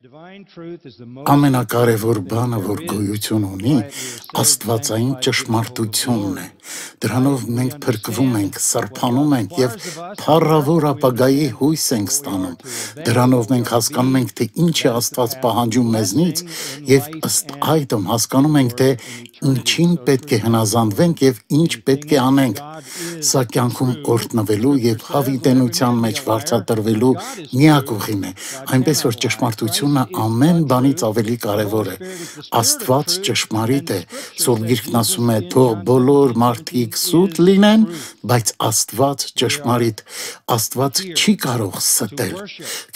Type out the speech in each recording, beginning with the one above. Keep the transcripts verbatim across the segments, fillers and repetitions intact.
Ամենակարևոր բանը, որ գոյություն ունի, աստվածային ճշմարտությունն է։ Դրանով մենք փրկվում ենք, սրբանում ենք և փառավոր ապագայի հույս ենք ստանում։ Դրանով մենք հասկանում ենք, թե ինչ է Աստված պահանջում մեզնից և ըստ այդմ հասկանում ենք, թե ինչին պետք է հնազանդվենք և ինչ պետք է անենք։ Սա կյանքում օրհնվելու և հավիտենության մեջ վարձատրվելու միակ ուղին է, այնպես որ ճշմարտությունը ամեն բանից ավելի կարևոր է։ Աստված ճշմարիտ է, Սուրբ Գիրքն ասում է, թող բոլոր մարդիկ սուտ լինեն, բայց Աստված ճշմարիտ։ Աստված չի կարող ստել։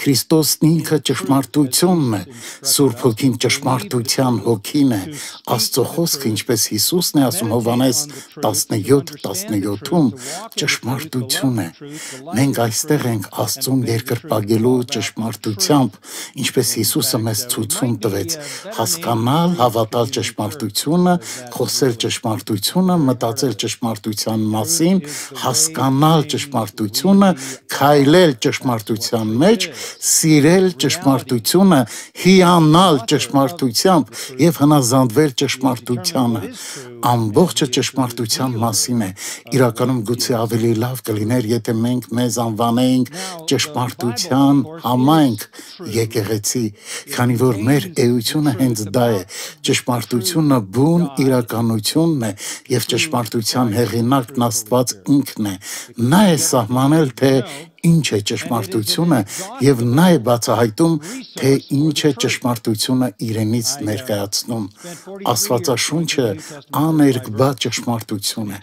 Քրիստոսն ինքը ճշմարտությունն է, Սուրբ Հոգին ճշմարտության հոգին է, Աստծո խոսքը, ինչպես Հիսուսն է ասում Հովհաննես տասնյոթ տասնյոթում, ճշմարտություն է։ Մենք այստեղ ենք Աստծուն երկրպագելու ճշմարտությամբ, ինչպես Հիսուսը մեզ ցույցում տվեց, հասկանալ, հավատալ ճշմարտությունը, խոսել ճշմարտությունը, մտածել ճշմարտության մասին, հասկանալ ճշմարտությունը, քայլել ճշմարտության մեջ, սիրել ճշմարտությունը, հիանալ ճշմարտությամբ և հնազանդվել ճշմարտությանը։ Ամբողջը ճշմարտության մասին է։ Իրականում գուցե ավելի լավ կլիներ, եթե մենք մեզ անվանեինք ճշմարտության համայնք, եկեղեցի, քանի որ մեր էությունը հենց դա է։ Ճշմարտությունը բուն իրականությունն է և ճշմարտության հեղինակն Աստված ինքն է։ Նա է սահմանել, թե ինչ է ճշմարտությունը և նա է բացահայտում, թե ինչ է ճշմարտությունը իրենից ներկայացնում։ Աստվածաշունչը աներկբա ճշմարտություն է։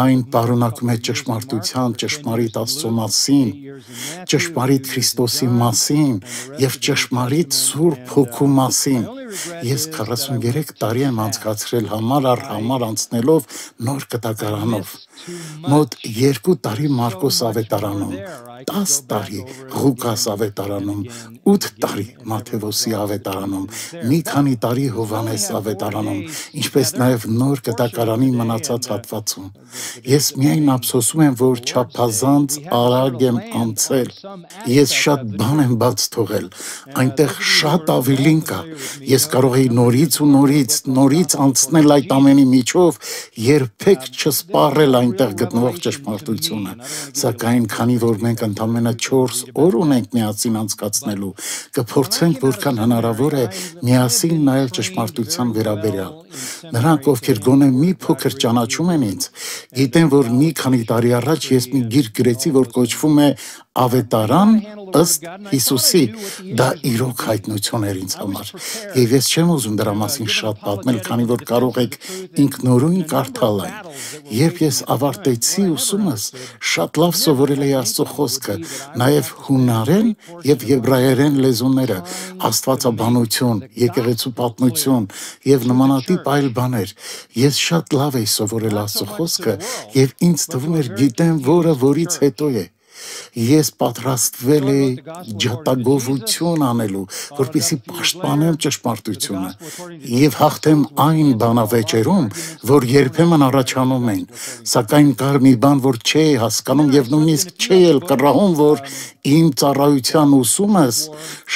Այն պարունակում է ճշմարտության, ճշմարիտ Աստծո մասին, ճշմարիտ Քրիստոսի մասին և ճշմարիտ Սուրբ Հոգու մասին։ Ես քառասուններեք տարի եմ անցկացրել համար առ համար անցնելով նոր կտակարանով։ Մոտ երկու տարի Մարկոս ավետարանում, տաս տարի Ղուկաս ավետարանում, ութ տարի Մատթեոս ավետարանում, մի քանի տարի Հովհաննես ավետարանում, ինչպես նաև նոր կտակարանի մնացած հատվածում։ Ես միայն ափսոսում եմ, որ չափազանց արագ եմ անցել։ Ես շատ բան եմ բաց թողել, այնտեղ շատ ավելին կա։ Ես կարող էի նորից ու նորից, նորից անցնել այդ ամենի միջով, երբեք չսպառել այնտեղ գտնվող ճշմարտությունը։ Սակայն քանի որ մենք ընդամենը չորս օր ունենք միասին անցկացնելու, կփորձենք որքան հնարավոր է միասին նայել ճշմարտության վերաբերյալ։ Նրանք, ովքեր գոնե մի փոքր ճանաչում են ինձ, գիտեն, որ մի քանի տարի առաջ ես մի գիրք գրեցի, որ կոչվում է Ավետարան ըստ Հիսուսի։ Դա իրոք հայտնություն էր ինձ համար։ Եվ ես չեմ ուզում դրա մասին շատ պատմել, քանի որ կարող եք ինքնուրույն կարդալ այն։ Երբ ես ավարտեցի ուսումս, շատ լավ սովորել էի Աստծո խոսքը, նաև հունարեն և եբրայերեն լեզուները, աստվածաբանություն, եկեղեցու պատմություն և նմանատիպ այլ բաներ։ Ես շատ լավ էի սովորել Աստծո խոսքը և ինձ թվում էր գիտեմ որը որից հետո է։ Ես պատրաստվել էի ջատագովություն անելու, որպեսզի պաշտպանեմ ճշմարտությունը և հաղթեմ այն բանավեճերում, որ երբեմն առաջանում են։ Սակայն կար մի բան, որ չէի հասկանում և նույնիսկ չէի էլ կռահում, որ իմ ծառայության ուսումս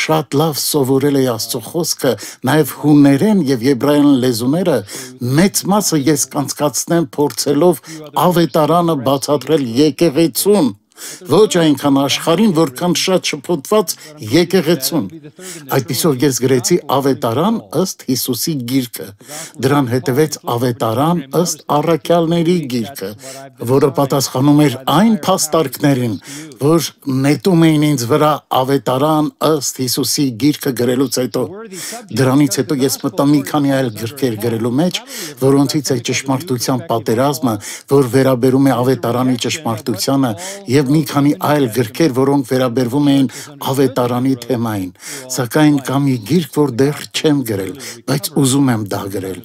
շատ լավ սովորել էի Աստծո խոսքը, նաև հուներեն և եբրայերեն լեզուները, մեծ մասը ես կանցկացնեմ փորձելով ավետարանը բացատրել եկեղեցուն, ոչ այնքան աշխարհին, որքան շատ շփոթված եկեղեցուն։ Այդպիսով ես գրեցի Ավետարան ըստ Հիսուսի գիրքը։ Դրան հետևեց Ավետարան ըստ առաքյալների գիրքը, որը պատասխանում էր այն փաստարկներին, որ նետում էին ինձ վրա Ավետարան ըստ Հիսուսի գիրքը գրելուց հետո։ Դրանից հետո ես մտա մի քանի այլ գրքեր գրելու մեջ, որոնցից է ճշմարտության պատերազմը, որ վերաբերում է Ավետարանի ճշմարտությանը, և մի քանի այլ գրքեր, որոնք վերաբերվում էին Ավետարանի թեմային։ Սակայն կա մի գիրք, որ դեռ չեմ գրել, բայց ուզում եմ դա գրել։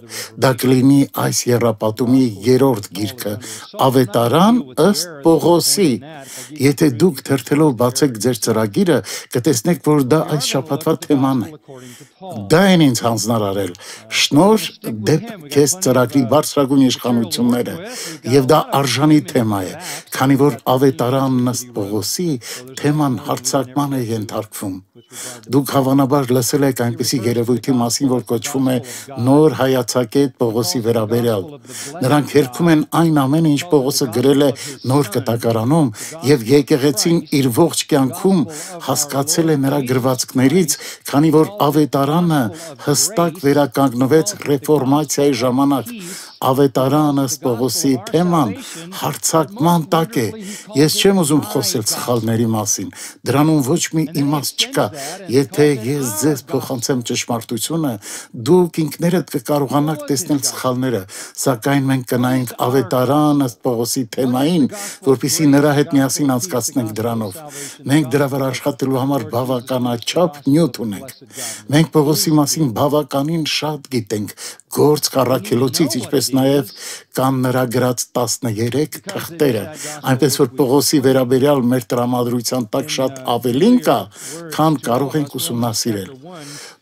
Դա կլինի այս եռապատումի երրորդ գիրքը, Ավետարան ըստ Պողոսի։ Եթե դուք թերթելով բացեք ձեր ծրագիրը, կտեսնեք, որ դա այս շաբաթվա թեման է։ Դա են ինձ հանձնարարել։ Շնորհ դեպ քեզ ծրագրի բարձրագույն իշխանությունները, և դա արժանի թեմա է, քանի որ Ավետարան ավետարանն ըստ Պողոսի թեման հարձակման է ենթարկվում։ Դուք հավանաբար լսել եք այնպիսի երևույթի մասին, որ կոչվում է նոր հայացակետ Պողոսի վերաբերյալ։ Նրանք երգում են այն ամենը, ինչ Պողոսը գրել է նոր կտակարանում, եւ եկեղեցին իր ողջ կյանքում հասկացել է նրա գրվածքներից, քանի որ ավետարանը հստակ վերականգնվեց ռեֆորմացիայի ժամանակ։ Ավետարանը ըստ Պողոսի թեման հարձակման տակ է։ Ես չեմ ուզում խոսել սխալների մասին, դրանում ոչ մի իմաստ չկա։ Եթե ես ձեզ փոխանցեմ ճշմարտությունը, դուք ինքներդ կկարողանաք տեսնել սխալները, սակայն մենք կնայենք ավետարան ըստ Պողոսի թեմային, որպեսզի նրա հետ միասին անցկացնենք դրանով։ Մենք դրա վրա աշխատելու համար բավականաչափ նյութ ունենք։ Մենք Պողոսի մասին բավականին շատ գիտենք, գործ առաքելոցից, ինչպես նաև կան նրա գրած տասներեք թղթերը, այնպես որ Պողոսի վերաբերյալ մեր տրամադրության տակ շատ ավելին կա, քան կարող ենք ուսումնասիրել։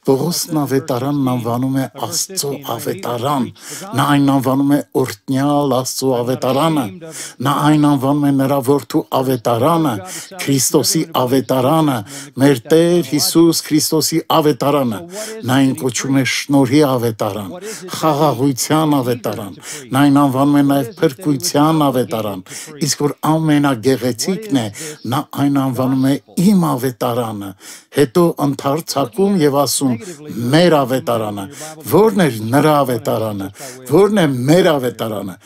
Պողոսն ավետարանն անվանում է Աստծո ավետարան, նա այն անվանում է օրհնյալ Աստծո ավետարանը, նա այն անվանում է նրա որդու ավետարանը, Քրիստոսի ավետարանը, մեր Տեր Հիսուս Քրիստոսի ավետարանը, նա այն կոչում է շնորհի ավետարան, խաղաղության ավետարան, նա այն անվանում է նաև փրկության ավետարան, իսկ որ ամենագեղեցիկն է, նա այն անվանում է իմ ավետարանը, հետո ընդարձակում եւ ասում մեր ավետարանը, ո՞րն է նրա ավետարանը, ո՞րն է մեր ավետարանը,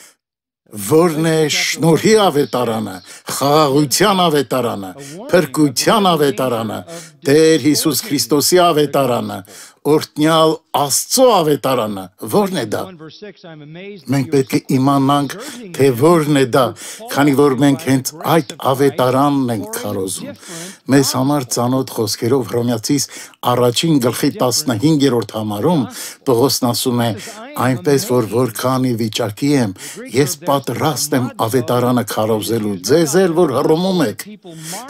ո՞րն է շնորհի ավետարանը, խաղաղության ավետարանը, փրկության ավետարանը, Տեր Հիսուս Քրիստոսի ավետարանը, օրհնյալ Աստծո ավետարանը, ո՞րն է դա։ Մենք պետք է իմանանք, թե ո՞րն է դա, քանի որ մենք հենց այդ ավետարանն ենք քարոզում։ Մեզ համար ծանոթ խոսքերով Հռոմեացիս առաջին գլխի տասնհինգերորդ համարում Պողոսն ասում է. այնպես որ որքանի վիճակի եմ, ես պատրաստ եմ ավետարանը քարոզելու, ձեզ էլ որ հռոմում եք,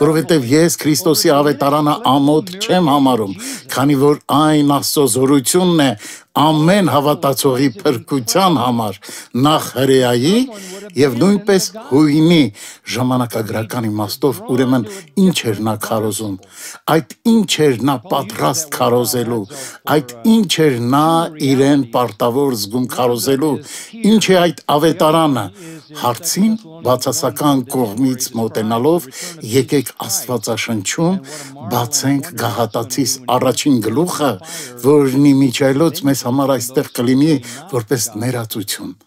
որովհետև ես Քրիստոսի ավետարանը ամոթ չեմ համարում, քանի որ այն Աստծո զորությունն է ամեն հավատացողի փրկության համար, նախ հրեայի եւ նույնպես հույնի ժամանակագրական իմաստով, ուրեմն ինչ էր նա քարոզում, այդ ինչ էր նա պատրաստ քարոզելու, այդ ինչ էր նա իրեն պարտավոր զգում քարոզելու, ինչ է այդ ավետարանը, հարցին բացասական կողմից մոտենալով եկեք Աստվածաշնչում բացենք Գաղատացիս առաջին գլուխը, որն իմիջայլոց մեզ համար այստեղ կլինի որպես ներածություն։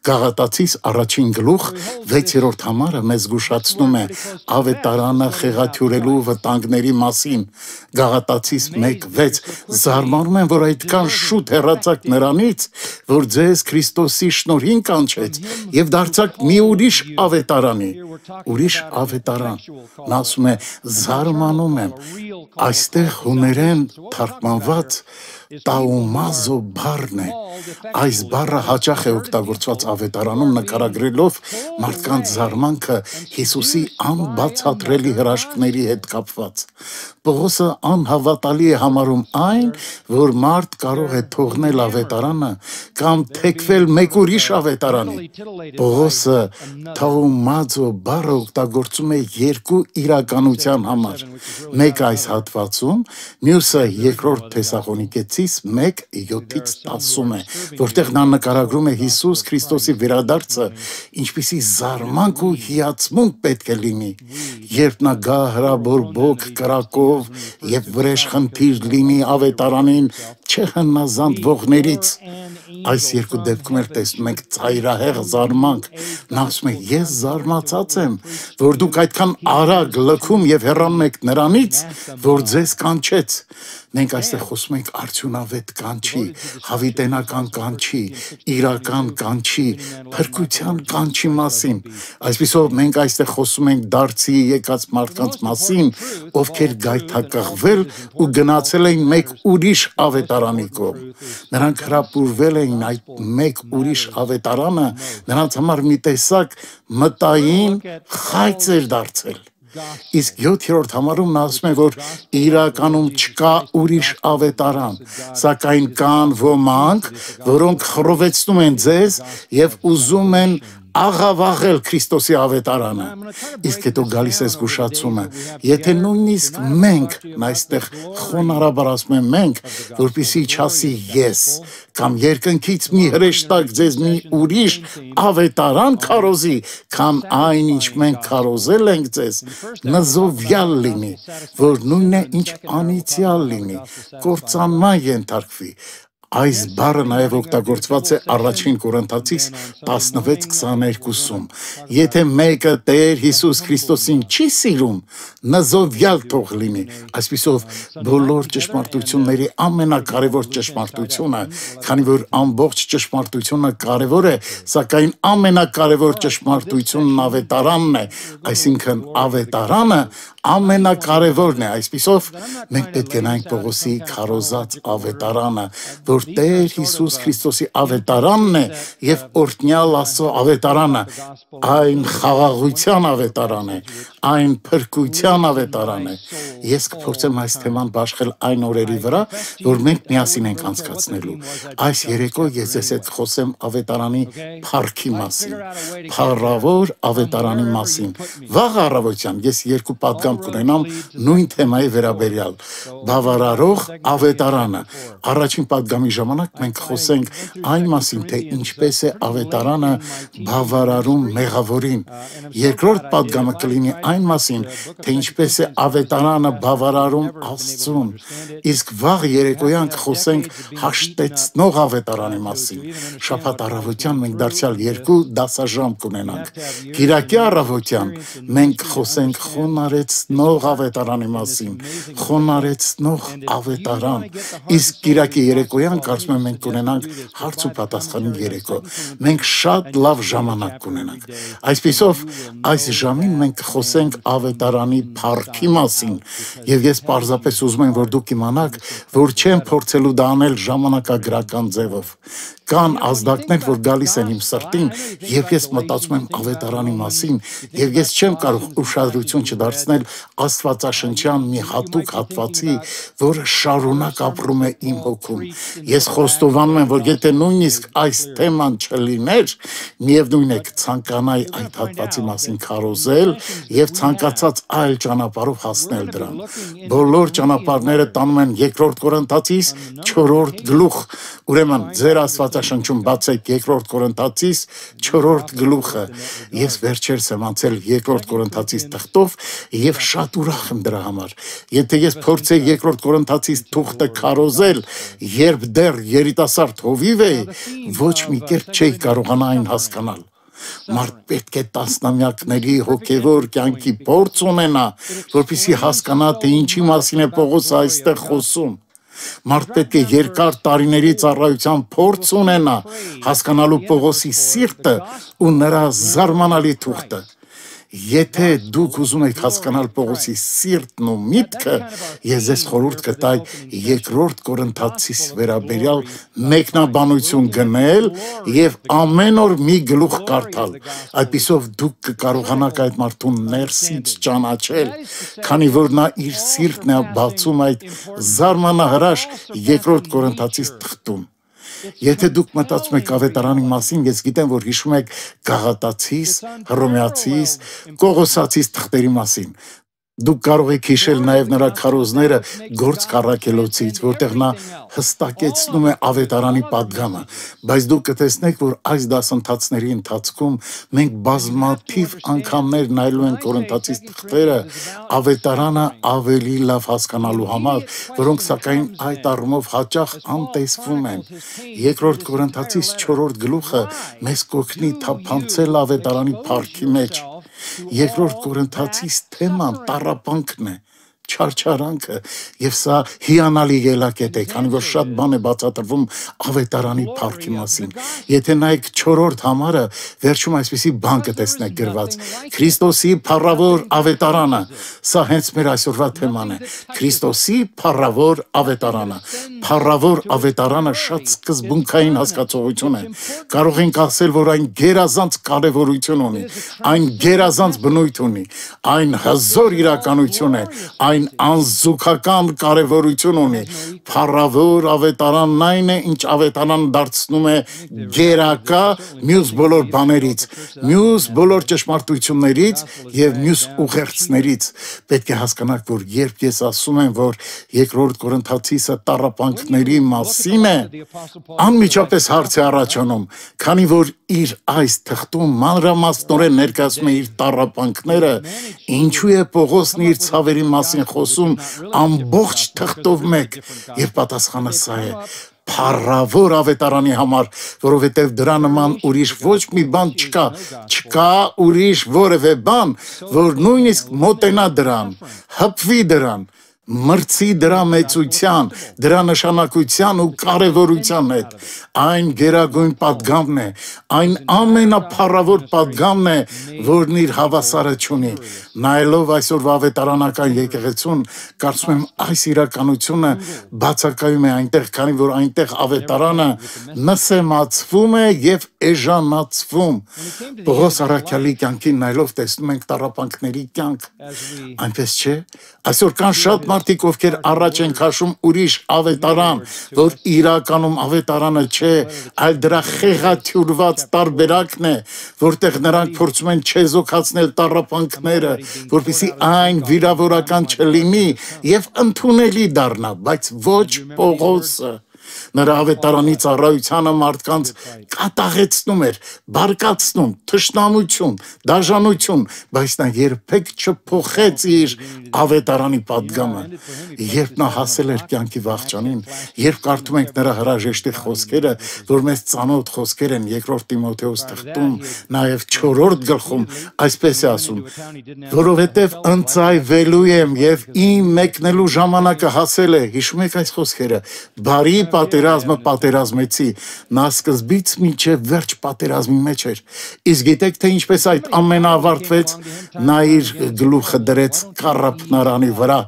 Գաղատացիս առաջին գլուխ վեցերորդ համարը մեզ զգուշացնում է ավետարանը խեղաթյուրելու վտանգների մասին։ Գաղատացիս մեկ վեց զարմանում եմ, որ այդքան շուտ հեռացաք նրանից, որ ձեզ Քրիստոսի շնորհին կանչեց եւ դարձաք մի ուրիշ ավետարանի։ Ուրիշ ավետարան։ Նա ասում է զարմանում եմ։ Այստեղ հուներեն թարգմանված տաումազո բառն է։ Այս բառը հաճախ է օգտագործված ավետարանում նկարագրելով մարդկանց զարմանքը Հիսուսի անբացատրելի հրաշքների հետ կապված։ Պողոսը անհավատալի է համարում այն, որ մարդ կարող է թողնել ավետարանը կամ թեքվել մեկ ուրիշ ավետարանի։ Պողոսը թաումազո բառը օգտագործում է երկու իրականության համար։ Մեկը այս հատվածում, մյուսը երկրորդ Թեսաղոնիկեցիս մեկ յոթից տասում է, որտեղ նա նկարագրում է Հիսուս Քրիստոսի վերադարձը, ինչպիսի զարմանք ու հիացմունք պետք է լինի, երբ նա գա հրաբորբոք կրակով եւ վրեժխնդիր լինի ավետարանին չհնազանդվողներից։ Այս երկու դեպքում էլ տեսնում ենք ծայրահեղ զարմանք։ Նա ասում է. ես զարմացած եմ, որ դուք այդքան արագ լքում եւ հեռանում եք նրանից, որ ձեզ կանչեց։ Մենք այստեղ խոսում ենք արդյունավետ կանչի, հավիտենական կանչի, իրական կանչի, փրկության կանչի մասին։ Այսպիսով մենք այստեղ խոսում ենք դարձի եկած մարդկանց մասին, ովքեր գայթակղվել ու գնացել էին մեկ ուրիշ ավետարանի կողմ։ Նրանք հրապուրվել էին այդ մեկ ուրիշ ավետարանը, նրանց համար մի տեսակ մտային խայծ էր դարձել։ Իսկ յոթերորդ համարում նա ասում է, որ իրականում չկա ուրիշ ավետարան, սակայն կան ոմանք, որոնք խռովեցնում են ձեզ եւ ուզում են աղավաղել Քրիստոսի ավետարանը։ Իսկ հետո գալիս է զգուշացումը, եթե նույնիսկ մենք այստեղ խոնարհաբար ասում եմ մենք, որպեսզի չասի ես, կամ երկնքից մի հրեշտակ ձեզ մի ուրիշ ավետարան քարոզի, քան այն ինչ մենք քարոզել ենք ձեզ, նզովյալ լինի, որ նույնն է ինչ անիծյալ լինի, կործանման ենթարկվի։ Այս բառը նաև օգտագործված է առաջին Կորինթացիս տասնվեց քսաներկուսում։ Եթե մեկը Տեր Հիսուս Քրիստոսին չի սիրում, նզովյալ թող լինի։ Այսպիսով բոլոր ճշմարտությունների ամենակարևոր ճշմարտությունը, քանի որ ամբողջ ճշմարտությունը կարևոր է, սակայն ամենակարևոր ճշմարտությունն ավետարանն է, այսինքն ավետարանը ամենակարևորն է։ Այսպիսով մենք պետք է նայենք Պողոսի քարոզած ավետարանը, որ Տեր Հիսուս Քրիստոսի ավետարանն է եւ օրհնյալ Աստծո ավետարանը, այն խաղաղության ավետարան է, այն փրկության ավետարան է։ Ես կփորձեմ այս թեման բաշխել այն օրերի վրա, որ մենք միասին ենք անցկացնելու։ Այս երեկո ես ձեզ հետ խոսեմ ավետարանի փառքի մասին, փառավոր ավետարանի մասին։ Վաղ առավոտյան ես երկու պատգամ կունենամ նույն թեմայի վերաբերյալ, բավարարող ավետարանը։ Առաջին պատգամի ժամանակ մենք խոսենք այն մասին, թե ինչպես է ավետարանը բավարարում մեղավորին։ Երկրորդ պատգամը կլինի այն մասին, թե ինչպես է ավետարանը բավարարում Աստծուն։ Իսկ վաղ երեկոյան կխոսենք հաշտեցնող ավետարանի մասին։ Շաբաթ առավոտյան մենք դարձյալ երկու դասաժամ կունենանք։ Կիրակի առավոտյան մենք խոսենք խոնարեցնող ավետարանի մասին, խոնարեցնող ավետարան։ Իսկ կիրակի երեկոյան կարծում եմ մենք կունենանք հարց ու պատասխանի երեկո։ Մենք շատ լավ ժամանակ կունենանք։ Այսպիսով այս ժամին մենք խոսենք ավետարանի փառքի մասին, եւ ես պարզապես ուզում եմ, որ դուք իմանաք, որ չեմ փորձելու դա անել ժամանակագրական ձևով։ Կան ազդակներ, որ գալիս են իմ սրտին, եւ ես մտածում եմ ավետարանի մասին, եւ ես չեմ կարող ուշադրություն չդարձնել Աստվածաշնչյան մի հատուկ հատվածի, որը շարունակ ապրում է իմ հոգում։ Ես խոստովանում եմ, որ եթե նույնիսկ այս թեման չլիներ, միևնույն է կցանկանայի այդ հատվածի մասին քարոզել եւ ցանկացած այլ ճանապարհով հասնել դրան։ Բոլոր ճանապարհները տանում են երկրորդ Կորինթացիս չորրորդ գլուխ։ Ուրեմն ձեր Աստվածաշնչում բացեք երկրորդ Կորինթացիս չորրորդ գլուխը։ Ես վերջերս եմ անցել երկրորդ Կորինթացիս թղթով եւ շատ ուրախ եմ դրա համար։ Եթե ես փորձեի երկրորդ Կորինթացիս թուղթը քարոզել, երբ դեռ երիտասարդ հովիվ էի, ոչ մի կերպ չէի կարողանա այն հասկանալ։ Մարդ պետք է տասնամյակների հոգևոր կյանքի փորձ ունենա, որպեսզի հասկանա, թե ինչի մասին է Պողոսը այստեղ խոսում։ Մարդ պետք է երկար տարիների ծառայության փորձ ունենա, հասկանալու Պողոսի սիրտը ու նրա զարմանալի թուղթը։ Եթե դուք ուզում եք հասկանալ Պողոսի սիրտն ու միտքը, ես ձեզ խորհուրդ կտայի երկրորդ Կորինթացիս վերաբերյալ մեկնաբանություն գնել եւ ամեն օր մի գլուխ կարդալ։ Այդպիսով դուք կկարողանաք այդ մարդուն ներսից ճանաչել, քանի որ նա իր սիրտն է բացում այդ զարմանահրաշ երկրորդ Կորինթացիս թղթում։ Եթե դուք մտածում եք ավետարանի մասին, ես գիտեմ, որ հիշում եք Գաղատացիս, Հռոմեացիս, Կողոսացիս թղթերի մասին։ Դուք կարող եք հիշել նաև նրա քարոզները Գործ Առաքելոցից, որտեղ նա հստակեցնում է ավետարանի պատգամը, բայց դուք կտեսնեք, որ այս դասընթացների ընթացքում մենք բազմաթիվ անգամներ նայելու ենք Կորինթացիս թղթերը ավետարանը ավելի լավ հասկանալու համար, որոնք սակայն այդ առումով հաճախ անտեսվում են։ Երկրորդ Կորինթացիս չորրորդ գլուխը մեզ կօգնի թափանցել ավետարանի փառքի մեջ։ Երկրորդ Կորինթացիս թեման տառապանքն է, չարչարանքը, եւ սա հիանալի ելակետ է, քանի որ շատ բան է բացատրվում ավետարանի փառքի մասին։ Եթե նայեք չորրորդ համարը, վերջում այսպիսի բան կտեսնեք գրված. Քրիստոսի փառավոր ավետարանը, սա հենց մեր այսօրվա թեման է։ Քրիստոսի փառավոր ավետարանը։ Փառավոր ավետարանը շատ սկզբունքային հասկացողություն է։ Կարող ենք ասել, որ այն գերազանց կարևորություն ունի, այն գերազանց բնույթ ունի, այն հզոր իրականություն է, այն այն անզուգական կարևորություն ունի։ Փառավոր ավետարանն այն է, ինչ ավետարան դարձնում է գերակա մյուս բոլոր բաներից, մյուս բոլոր ճշմարտություններից եւ մյուս ուղերձներից։ Պետք է հասկանաք, որ երբ ես ասում եմ, որ երկրորդ Կորինթացիը տառապանքների մասին է, անմիջապես հարց է առաջանում, քանի որ իր այս թղթում մանրամասնորեն ներկայացնում է իր տառապանքները, ինչու է Պողոսն իր ցավերի մասին խոսում ամբողջ թղթով մեկ, եւ պատասխանը սա է. Փառավոր ավետարանի համար, որովհետև դրա նման ուրիշ ոչ մի բան չկա, չկա ուրիշ որևէ բան, որ նույնիսկ մոտենա դրան, հպվի դրան, մրցի դրա մեծության, դրա նշանակության ու կարևորության հետ։ Այն գերագույն պատգամն է, այն ամենափառավոր պատգամն է, որն իր հավասարը չունի։ Նայելով այսօրվա ավետարանական եկեղեցուն, կարծում եմ այս իրականությունը բացակայում է այնտեղ, քանի որ այնտեղ ավետարանը նսեմացվում է եւ էժանացվում։ Պողոս առաքյալի կյանքին նայելով տեսնում ենք տառապանքների կյանք։ Այնպես չէ։ Այսօր կան շատ մարդիկ, ովքեր առաջ են քաշում ուրիշ ավետարան, որ իրականում ավետարանը չէ, այլ դրա խեղաթյուրված տարբերակն է, որտեղ նրանք փորձում են չեզոքացնել տառապանքները, որպեսզի այն վիրավորական չլինի եւ ընդունելի դառնա, բայց ոչ Պողոսը։ Նրա ավետարանի ծառայությանը մարդկանց կատաղեցնում էր, բարկացնում, թշնամություն, դաժանություն, բայց նա երբեք չփոխեց իր ավետարանի պատգամը։ Երբ նա հասել էր կյանքի վախճանին, երբ կարդում ենք նրա հրաժեշտի խոսքերը, որ մեզ ծանոթ խոսքեր են երկրորդ Տիմոթեոս թղթում, նաև չորրորդ գլխում, այսպես է ասում. որովհետև ընծայվելու եմ եւ իմ մեկնելու ժամանակը հասել է։ Հիշում եք այս խոսքերը։ Բարի պատերազմը պատերազմեցի, նա սկզբից մինչև վերջ պատերազմի մեջ էր։ Իսկ գիտեք թե ինչպես այդ ամենը ավարտվեց, նա իր գլուխը դրեց կառափնարանի վրա,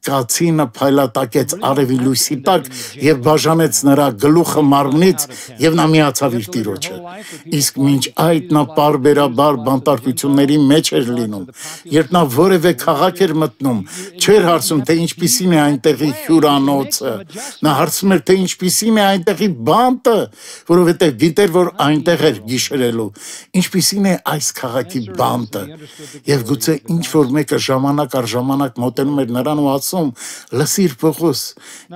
կացինը փայլատակեց արևի լույսի տակ եւ բաժանեց նրա գլուխը մարմնից եւ նա միացավ իր տիրոջը։ Իսկ մինչ այդ նա պարբերաբար բանտարկությունների մեջ էր լինում։ Երբ նա որևէ քաղաք էր մտնում, չէր հարցում, թե ինչպիսին է այնտեղի հյուրանոցը, նա հարցում էր, թե ինչպիսին է այնտեղի բանտը, որովհետև գիտեր, որ այնտեղ էր գիշերելու, ինչպիսին է այս քաղաքի բանտը։ Եվ գուցե ինչ որ մեկը ժամանակ առ ժամանակ մոտենում էր նրան ու ասում. լսիր Պողոս,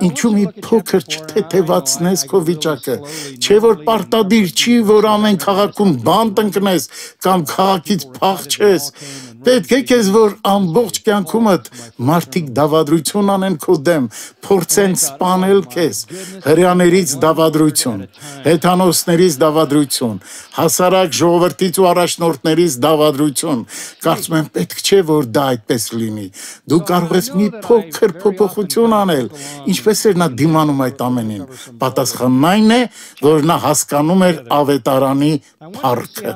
ինչու մի փոքր չթեթևացնես քո վիճակը, չէ որ պարտադիր չի, որ ամեն քաղաքում բանտ ընկնես կամ քաղաքից փախչես։ Պետք է քեզ, որ ամբողջ կյանքումդ մարդիկ դավադրություն անեն քո դեմ, փորձեն սպանել քեզ, հրեաներից դավադրություն, հեթանոսներից դավադրություն, հասարակ ժողովրդից ու առաջնորդներից դավադրություն։ Կարծում եմ պետք չէ, որ դա այդպես լինի։ Դու կարող ես մի փոքր փոփոխություն անել։ Ինչպես էր նա դիմանում այդ ամենին։ Պատասխանն այն է, որ նա հասկանում էր ավետարանի փառքը։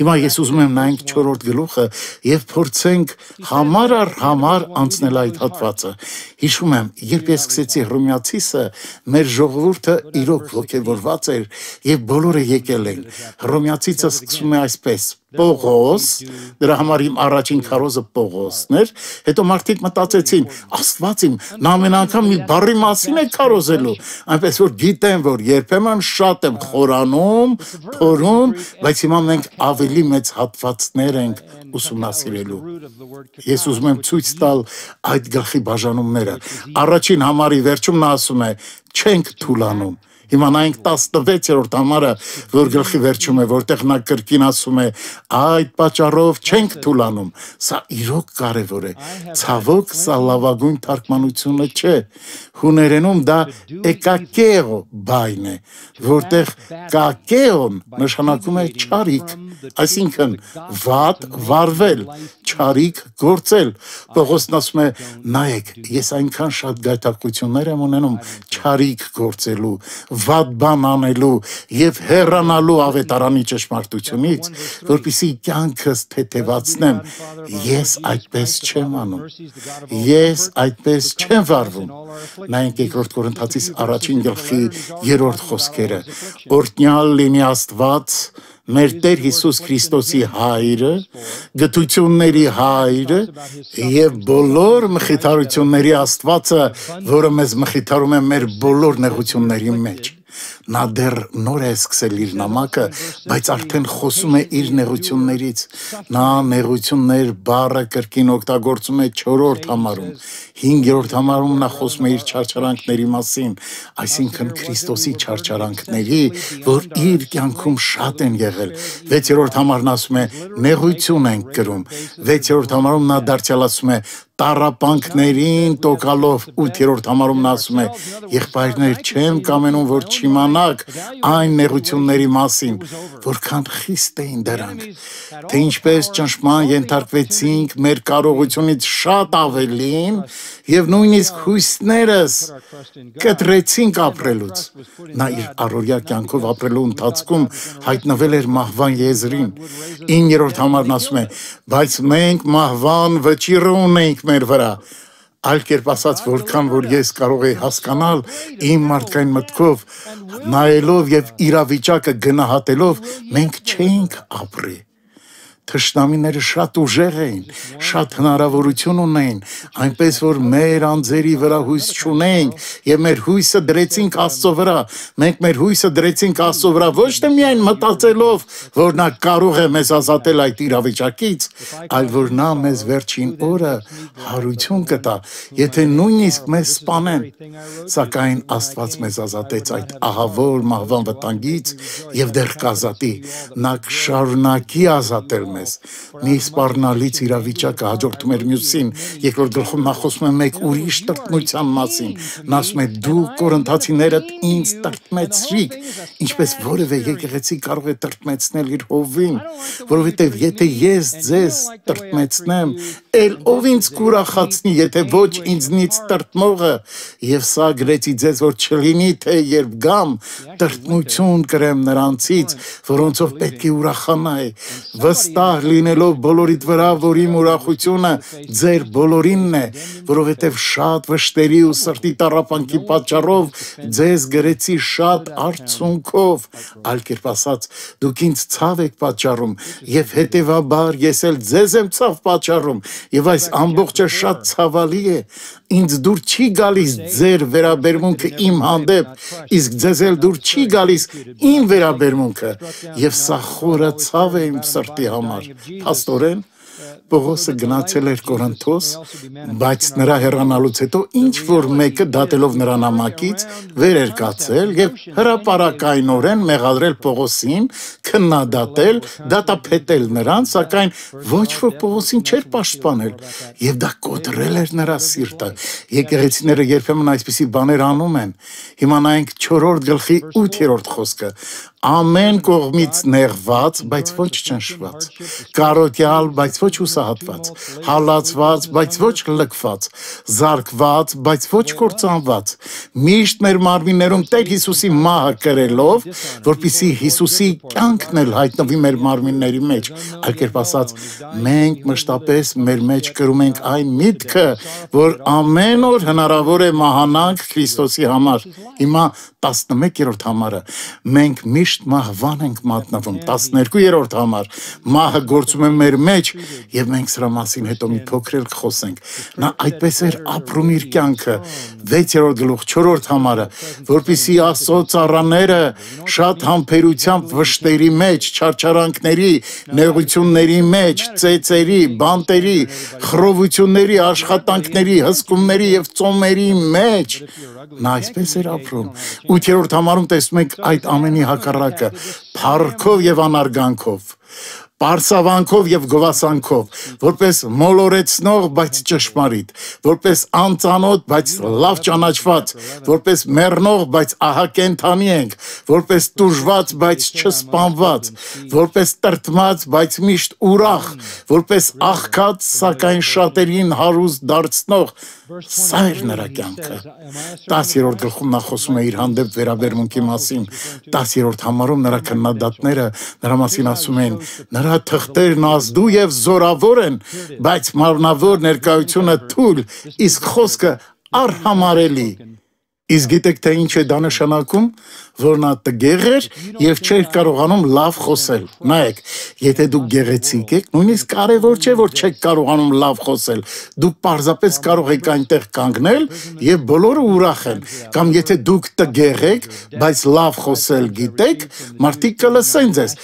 Հիմա ես ուզում եմ նայենք չորրորդ գլուխը եւ փորձենք համար առ համար անցնել այդ հատվածը։ Հիշում եմ, երբ ես սկսեցի Հռոմեացիսը, մեր ժողովուրդը իրոք ոգևորված էր եւ բոլորը եկել են։ Հռոմեացիսը սկսում է այսպես. Պողոս, դրա համար իմ առաջին քարոզը Պողոսն էր, հետո մարդիկ մտածեցին, Աստված իմ, նա ամեն անգամ մի բառի մասին է քարոզելու, այնպես որ գիտեմ, որ երբեմն շատ եմ խորանում, փորում, բայց հիմա մենք ավելի մեծ հատվածներ ենք ուսումնասիրելու։ Ես ուզում եմ ցույց տալ այդ գլխի բաժանումները։ Առաջին համարի վերջում նա ասում է. չենք թուլանում։ Հիմա նայենք տասնվեցերորդ համարը, որ գլխի վերջում է, որտեղ նա կրկին ասում է. այդ պատճառով չենք թուլանում։ Սա իրոք կարևոր է։ Ցավոք, սա լավագույն թարգմանությունը չէ։ Հուներենում դա էկակեո բայն է, որտեղ կակեոն նշանակում է չարիք, այսինքն վատ վարվել, չարիք գործել։ Պողոսն ասում է. նայեք, ես այնքան շատ գայթակղություններ եմ ունենում չարիք գործելու, վատ բան անելու եւ հեռանալու ավետարանի ճշմարտությունից, որպեսզի կյանքս թեթևացնեմ։ Ես այդպես չեմ անում։ Ես այդպես չեմ վարվում։ Նայենք երկրորդ Կորինթացիս առաջին գլխի երրորդ խոսքերը. օրհնյալ լինի Աստված, մեր Տեր Հիսուս Քրիստոսի հայրը, գթությունների հայրը եւ բոլոր մխիթարությունների Աստվածը, որը մեզ մխիթարում է մեր բոլոր նեղությունների մեջ։ Նա դեռ նոր է սկսել իր նամակը, բայց արդեն խոսում է իր նեղություններից։ Նա նեղություններ բառը կրկին օգտագործում է չորրորդ համարում։ Հինգերորդ համարում նա խոսում է իր չարչարանքների մասին, այսինքն Քրիստոսի չարչարանքների, որ իր կյանքում շատ են եղել։ Վեցերորդ համարն ասում է նեղություն ենք կրում։ Վեցերորդ համարում նա դարձյալ ասում է տառապանքներին տոկալով, ութերորդ համարում նա ասում է եղբայրներ չեմ կամենում, որ չիմանաք այն նեղությունների մասին, որքան խիստ էին դրանք, թե ինչպես ճնշման ենթարկվեցինք մեր կարողությունից շատ ավելին եւ նույնիսկ հույսներս կտրեցինք ապրելուց։ Նա իր առօրյա կյանքով ապրելու ընթացքում հայտնվել էր մահվան եզրին։ իններորդ համարն ասում է բայց մենք մահվան վճիռը ունենք մեր վրա։ Այլ կերպ ասած, որքան որ ես կարող եի հասկանալ իմ մարդկային մտքով, նայելով եւ իրավիճակը գնահատելով, մենք չէինք ապրի։ Թշնամիները շատ ուժեղ էին, շատ հնարավորություն ունեին, այնպես որ մեր անձերի վրա հույս չունեինք եւ մեր հույսը դրեցինք Աստծո վրա։ Մենք մեր հույսը դրեցինք Աստծո վրա ոչ թե միայն մտածելով, որ նա կարող է մեզ ազատել այդ իրավիճակից, այլ որ նա մեզ վերջին օրը հարություն կտա, եթե նույնիսկ մեզ սպանեն։ Սակայն Աստված մեզ ազատեց այդ ահավոր մահվան վտանգից եւ դեռ կազատի։ Նա կշարունակի ազատել մեզ։ Մի սպառնալից իրավիճակը հաջորդում էր մյուսին, երկրորդ գլխում նա խոսում է մեկ ուրիշ տրտմության մասին։ Նա ասում է դու կորինթացիներդ ինձ տրտմեցրիք, ինչպես որևէ եկեղեցի կարող է տրտմեցնել իր հովին, որովհետև եթե ես ձեզ տրտմեցնեմ, էլ ով ինձ կուրախացնի, եթե ոչ ինձնից տրտմողը, եւ սա գրեցի ձեզ, որ չլինի, թե երբ գամ, տրտմություն կրեմ նրանցից, որոնցով պետք է ուրախանայի, վստահ լինելով բոլորիդ վրա, որ իմ ուրախությունը ձեր բոլորինն է, որովհետև շատ վշտերի ու սրտի տառապանքի պատճառով ձեզ գրեցի շատ արցունքով, այլ կերպ ասած, դուք ինձ ցավ եք պատճառում, եւ հետեւաբար ես էլ ձեզ եմ ցավ պատճառում, եւ այս ամբողջը շատ ցավալի է, ինձ դուր չի գալիս ձեր վերաբերմունքը իմ հանդեպ, իսկ ձեզ էլ դուր չի գալիս իմ վերաբերմունքը, եւ սա խորը ցավ է իմ սրտի համար։ Փաստորեն Պողոսը գնացել էր Կորինթոս, բայց նրա հեռանալուց հետո ինչ որ մեկը դատելով նրա նամակից վեր էր կացել եւ հրապարակայնորեն մեղադրել Պողոսին, քննադատել, դատապետել նրան, սակայն ոչ որ Պողոսին չէր պաշտպանել եւ դա կոտրել էր նրա սիրտը։ Եկեղեցիները երբեմն այսպիսի բաներ անում են։ Հիմա նայենք չորրորդ գլխի ութերորդ խոսքը։ Ամեն կողմից նեղված, բայց ոչ ճնշված, կարոտյալ, բայց ոչ հուսահատված, հալածված, բայց ոչ լքված, զարկված, բայց ոչ կործանված, միշտ մեր մարմիններում Տեր Հիսուսի մահը կրելով, որպեսզի Հիսուսի կյանքն էլ հայտնվի մեր մարմինների մեջ, այլ կերպ ասած, մենք մշտապես մեր մեջ կրում ենք այն միտքը, որ ամեն օր հնարավոր է մահանանք Քրիստոսի համար։ Հիմա տասնմեկերորդ համարը, մենք միշտ մահվան ենք մատնվում, տասներկուերորդ համար, մահը գործում է մեր մեջ եւ մենք սրա մասին հետո մի փոքր էլ կխոսենք։ Նա այդպես էր ապրում իր կյանքը, վեցերորդ գլուխ, չորրորդ համարը, որպեսզի Աստծո ծառաները շատ համբերությամբ վշտերի մեջ, չարչարանքների, նեղությունների մեջ, ծեծերի, բանտերի, խռովությունների, աշխատանքների, հսկումների եւ ծոմերի մեջ նա այսպես էր ապրում։ Ութերորդ համարում տեսնում ենք այդ ամենի հակառակը, փառքով եւ անարգանքով, պարսավանքով եւ գովասանքով, որպես մոլորեցնող, բայց ճշմարիտ, որպես անծանոթ, բայց լավ ճանաչված, որպես մեռնող, բայց ահա կենդանի ենք, որպես տուժված, բայց չսպանված, որպես տրտմած, բայց միշտ ուրախ, որպես աղքատ, սակայն շատերին հարուստ դարձնող, սա էր նրա կյանքը։ տասերորդ գլխում նա խոսում է իր հանդեպ վերաբերմունքի մասին, տասերորդ համարում նրա քննադատները նրա մասին ասում են, նրա թղթերն ազդու եւ զորավոր են, բայց մարմնավոր ներկայությունը թույլ, իսկ խոսքը արհամարելի։ Իսկ գիտեք թե ինչ է դա նշանակում, որ նա տգեղ էր եւ չէր կարողանում լավ խոսել։ Նայեք, եթե դուք գեղեցիկ եք, նույնիսկ կարևոր չէ, որ չեք կարողանում լավ խոսել։ Դուք պարզապես կարող եք այնտեղ կանգնել եւ բոլորը ուրախ են։ Կամ եթե դուք տգեղ եք, բայց լավ խոսել գիտեք, մարդիկ կլսեն ձեզ։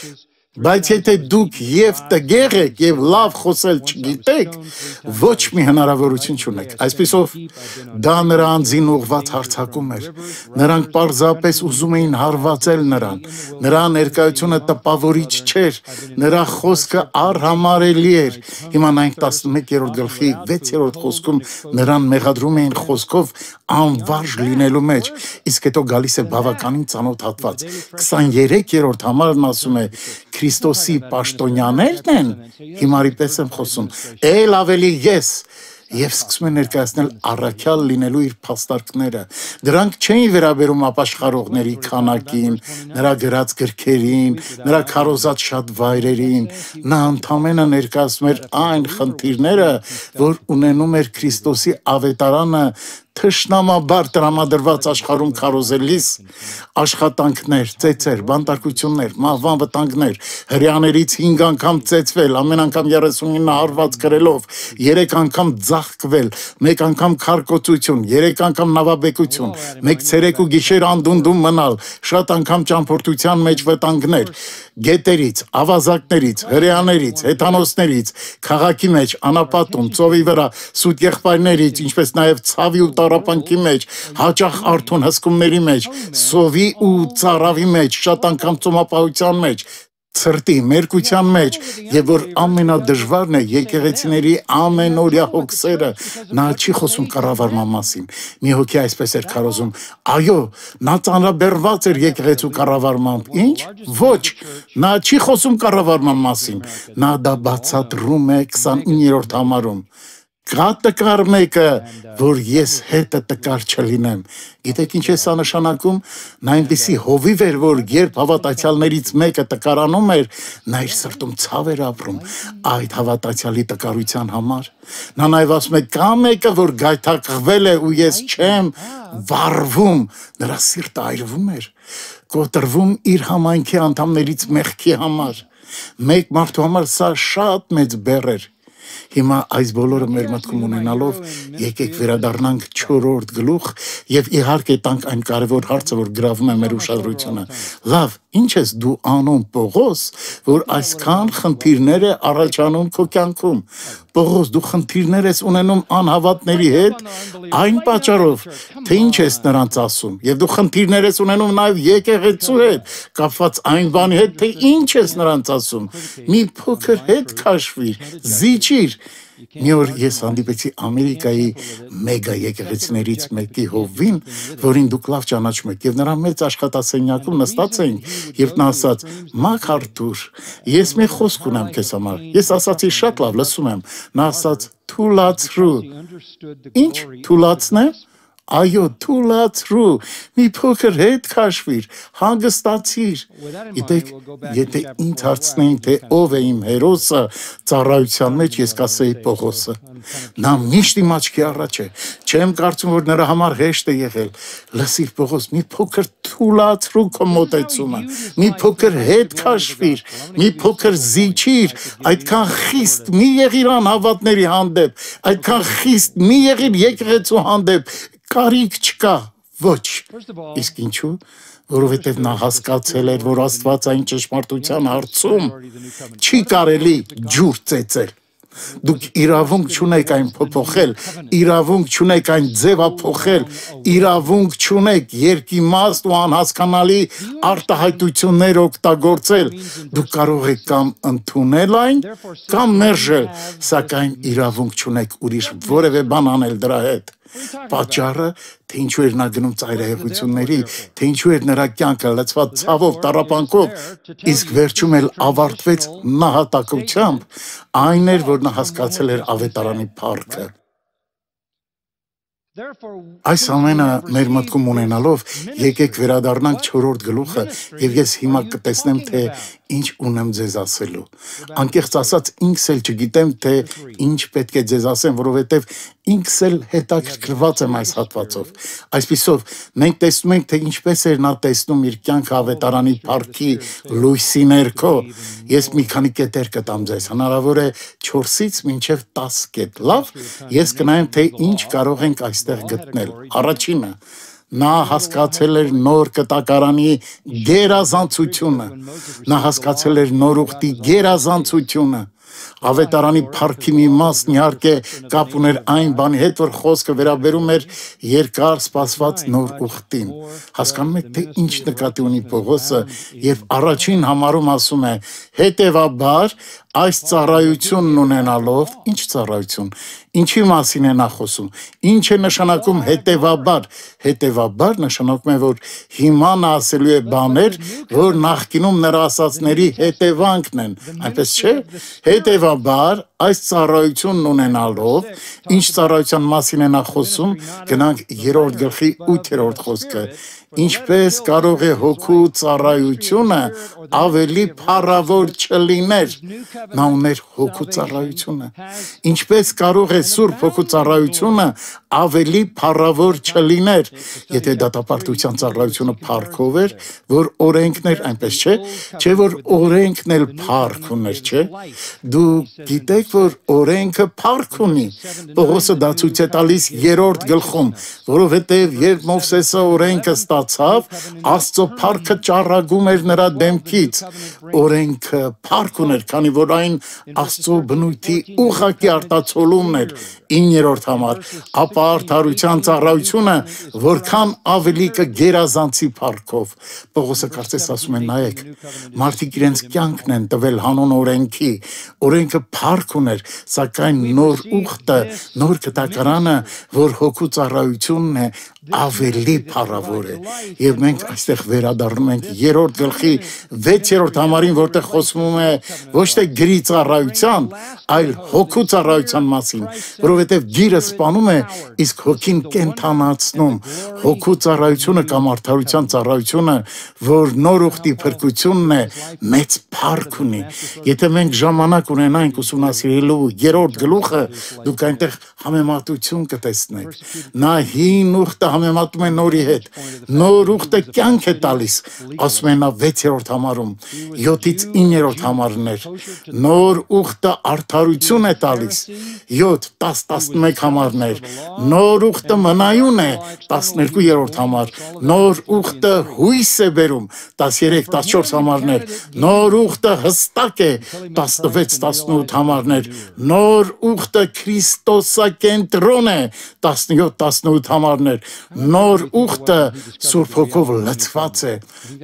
Բայց եթե դուք եւ տգեղ եք եւ լավ խոսել չգիտեք, ոչ մի հնարավորություն չունեք։ Այսպիսով դա նրա անձին ուղղված հարձակում էր։ Նրանք պարզապես ուզում էին հարվածել նրան։ Նրա ներկայությունը տպավորիչ չէր, նրա խոսքը առհամարելի էր։ Հիմա նայենք տասնմեկերորդ գլխի վեցերորդ խոսքում նրան մեղադրում էին խոսքով անվարժ լինելու մեջ, իսկ հետո գալիս է բավականին ծանոթ հատված։ քսաներեքերորդ համարն ասում է. Քրիստոսի պաշտոնյաներն են, հիմարի պես եմ խոսում, էլ ավելի ես, եւ սկսում է ներկայացնել առաքյալ լինելու իր փաստարկները։ Դրանք չէին վերաբերում ապաշխարողների քանակին, նրա գրած գրքերին, նրա քարոզած շատ վայրերին։ Նա ընդամենը ներկայացնում էր այն խնդիրները, որ ունենում էր Քրիստոսի ավետարանը թշնամաբար տրամադրված աշխարհում քարոզելիս, աշխատանքներ, ծեծեր, բանտարկություններ, մահվան վտանգներ, հրեաներից հինգ անգամ ծեծվել, ամեն անգամ երեսունինը հարված կրելով, երեք անգամ ձաղկվել, մեկ անգամ քարկոծություն, երեք անգամ նավաբեկություն, մեկ ցերեկ ու գիշեր անդունդում մնալ, շատ անգամ ճամփորդության մեջ վտանգներ, գետերից, ավազակներից, հրեաներից, հեթանոսներից, քաղաքի մեջ, անապատում, ծովի վրա, սուտ եղբայրներից, ինչպես նաև ցավի ու տառապանքի մեջ, հաճախ արթուն հսկումների մեջ, սովի ու ծարավի մեջ, շատ անգամ ծոմապահության մեջ, ցրտի, մերկության մեջ, եւ որ ամենադժվարն է եկեղեցիների ամենօրյա հոգսերը, նա չի խոսում կառավարման մասին։ Մի հոգի այսպես էր քարոզում. այո, նա ծանրաբեռված էր եկեղեցու կառավարմամբ։ Ինչ? Ոչ, նա չի խոսում կառավարման մասին։ Նա դա բացատրում է քսանիններորդ համարում։ Կա տկար մեկը, որ ես հետը տկար չլինեմ։ Գիտեք ինչ է սա նշանակում։ Նա այնպիսի հովիվ էր, որ երբ հավատացյալներից մեկը տկարանում էր, նա իր սրտում ցավ էր ապրում այդ հավատացյալի տկարության համար։ Նա նաև ասում է, կա մեկը, որ գայթակղվել է ու ես չեմ վառվում, նրա սիրտը այրվում էր, կոտրվում իր համայնքի անդամներից մեղքի համար։ Մեկ մարդու համար սա շատ մեծ բեռ էր։ Հիմա այս բոլորը մեր մտքում ունենալով եկեք վերադառնանք չորրորդ գլուխ եւ իհարկե տանք այն կարևոր հարցը, որ գրավում է մեր ուշադրությունը։ Լավ, ինչ ես դու անում, Պողոս, որ այսքան խնդիրներ է առաջանում քո կյանքում։ Պողոս, դու խնդիրներ ես ունենում անհավատների հետ, այն պատճառով, թե ինչ ես նրանց ասում, եւ դու խնդիրներ ես ունենում նաեւ եկեղեցու հետ, կապված այն բանի հետ, թե ինչ ես նրանց ասում։ Մի փոքր հետ քաշվիր, զիջիր։ Մի օր ես հանդիպեցի Ամերիկայի մեգա եկեղեցիներից մեկի հովվին, որին դուք լավ ճանաչում եք, եւ նրա մեծ աշխատասենյակում նստած էինք, եւ նա ասաց. «Մաքարթուր, ես մի խոսք ունեմ քեզ համար»։ Ես ասացի. «Շատ լավ, լսում եմ»։ Նա ասաց. «Թուլացրու»։ Ինչ թուլացնեմ։ Այո, թուլացրու, մի փոքր հետ քաշվիր, հանգստացիր։ Գիտեք, եթե ինձ հարցնեին, թե ով է իմ հերոսը ծառայության մեջ, ես կասեի Պողոսը։ Նա միշտ իմ աչքի առաջ է։ Չեմ կարծում, որ նրա համար հեշտ է եղել։ Լսիր, Պողոս, մի փոքր թուլացրու քո մոտեցումը, մի փոքր հետ քաշվիր, մի փոքր զիջիր, այդքան խիստ մի եղիր անհավատների հանդեպ, այդքան խիստ մի եղիր եկեղեցու հանդեպ, կարիք չկա, ոչ։ Իսկ ինչու՞։ Որովհետև նա հասկացել էր, որ Աստվածային ճշմարտության հարցում չի կարելի ջուր ծեծել։ Դուք իրավունք չունեք այն փոփոխել, իրավունք չունեք այն ձևափոխել, իրավունք չունեք երկիմաստ ու անհասկանալի արտահայտություններ օգտագործել։ Դուք կարող եք կամ ընդունել այն, կամ մերժել, սակայն իրավունք չունեք ուրիշ որևէ բան անել դրա հետ։ Պատճառը, թե ինչու էր նա գնում ծայրահեղությունների, թե ինչու էր նրա կյանքը լցված ցավով, տառապանքով, իսկ վերջում էլ ավարտվեց նահատակությամբ, այն էր, որ նա հասկացել էր ավետարանի փառքը։ Այս ամենը մեր մտքում ունենալով, եկեք վերադառնանք չորրորդ գլուխը, եւ ես հիմա կտեսնեմ, թե ինչ ունեմ ձեզ ասելու։ Անկեղծ ասած, ինքս էլ չգիտեմ, թե ինչ պետք է ձեզ ասեմ, որովհետև ինքս էլ հետաքրքրված եմ այս հատվածով։ Այսպիսով, մենք տեսնում ենք, թե ինչպես էր նա տեսնում իր կյանքը ավետարանի փառքի լույսի ներքո։ Ես մի քանի կետեր կտամ ձեզ, հնարավոր է չորսից մինչև տասը կետ։ Լավ, ես կնայեմ, թե ինչ կարող ենք այստեղ գտնել։ Առաջինը, նա հասկացել էր նոր կտակարանի գերազանցությունը, նա հասկացել էր նոր ուխտի գերազանցությունը։ Ավետարանի փառքի մի մասն իհարկե կապ ուներ այն բանի հետ, որ խոսքը վերաբերում էր երկար սպասված նոր ուխտին։ Հասկանում եք, թե ինչ նկատի ունի Պողոսը, երբ առաջին համարում ասում է. հետևաբար այս ծառայությունն ունենալով, ինչ ծառայություն, ինչի մասին է նա խոսում, ինչ է նշանակում հետևաբար, հետևաբար նշանակում է, որ հիմա նա ասելու է բաներ, որ նախկինում նրա ասածների հետևանքն են, այնպես չէ, հետևաբար այս ծառայությունն ունենալով, ինչ ծառայության մասին է նա խոսում, գնանք երրորդ գլխի ութերորդ խոսքը, ինչպես կարող է հոգու ծառայությունը ավելի փառավոր չլիներ, նա ուներ հոգու ծառայությունը, ինչպես կարող է Սուրբ Հոգու ծառայությունը ավելի փառավոր չլիներ, եթե դատապարտության ծառայությունը փառքով էր, որ օրենքն էր, այնպես չէ, չէ որ օրենքն էլ փառք ուներ, չէ, դու գիտեք, որ օրենքը փառք ունի, Պողոսը դա ցույց է տալիս երրորդ գլխում, որովհետև երբ Մովսեսը օրենքը ստացավ, Աստծո փառքը ճառագում էր նրա դեմքից, օրենքը փառք ուներ, քանի որ այն Աստծո բնույթի ուղղակի արտացոլումն էր, իններորդ համար, ապա արդարության ծառայությունը որքան ավելի կգերազանցի փառքով։ Պողոսը կարծես ասում է, նայեք, մարդիկ իրենց կյանքն են տվել հանուն օրենքի, օրենքը փառք ուներ, սակայն նոր ուխտը, նոր կտակարանը, որ հոգու ծառայությունն է, ավելի փառավոր է։ Եվ մենք այստեղ վերադառնում ենք երրորդ գլխի վեցերորդ համարին, որտեղ խոսվում է ոչ թե գրի ծառայության, այլ հոգու ծառայության մասին, որովհետև գիրը սպանում է, իսկ հոգին կենթանացնում։ Հոգու ծառայությունը կամ արդարության ծառայությունը, որ նոր ուխտի փրկությունն է, մեծ փառք ունի։ Եթե մենք ժամանակ ունենանք ուսումնասիրելու երրորդ գլուխը, դուք այնտեղ համեմատություն կտեսնեք։ Նա հին ուխտը համեմատում է նորի հետ, նոր ուխտը կյանք է տալիս, ասում է նա վեցերորդ համարում, յոթից իններորդ համարներ, նոր ուխտը արդարություն է տալիս, յոթ, տաս, տասնմեկ համարներ, նոր ուխտը մնայուն է, տասներկուերորդ համար, նոր ուխտը հույս է բերում, տասներեք, տասնչորս համարներ, նոր ուխտը հստակ է, տասնվեց, տասնութ համարներ, նոր ուխտը Քրիստոսակենտրոն է, տասնյոթ, տասնութ համարներ, նոր ուխտը Սուրբ Հոգով լցված է։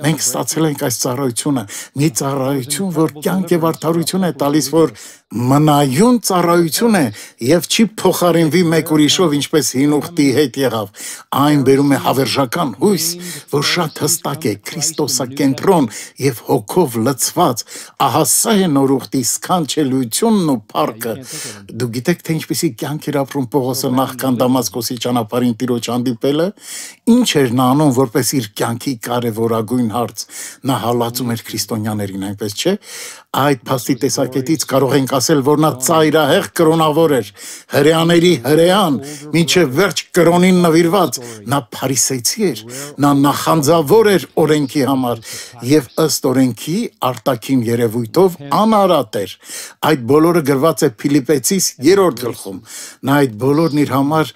Մենք ստացել ենք այս ծառայությունը, մի ծառայություն, որ կյանք եւ արդարություն է տալիս, որ մնայուն ծառայություն է եւ չի փոխարինվի մեկ ուրիշով, ինչպես հին ուխտի հետ եղավ։ Այն բերում է հավերժական հույս, որ շատ հստակ է, Քրիստոսակենտրոն եւ հոգով լցված։ Ահա սա է նոր ուխտի սքանչելությունն ու փառքը։ Դու գիտեք, թե ինչպեսի կյանք էր ապրում Պողոսը նախքան Դամասկոսի ճանապարհին Տիրոջ հանդիպելը, ինչ էր նա անում, որպես իր կյանքի կարևորագույն հարց։ Նա հալածում էր քրիստոնյաներին, այնպես չէ։ Այդ փաստի տեսակետից կարող ենք ասել, որ նա ծայրահեղ կրոնավոր էր, հրեաների հրեան, մինչև վերջ կրոնին նվիրված, նա փարիսեցի էր, նա նախանձավոր էր օրենքի համար եւ ըստ օրենքի արտաքին երևույթով անարատ էր։ Այդ բոլորը գրված է Փիլիպեցիս երրորդ գլխում։ Նա այդ բոլորն իր համար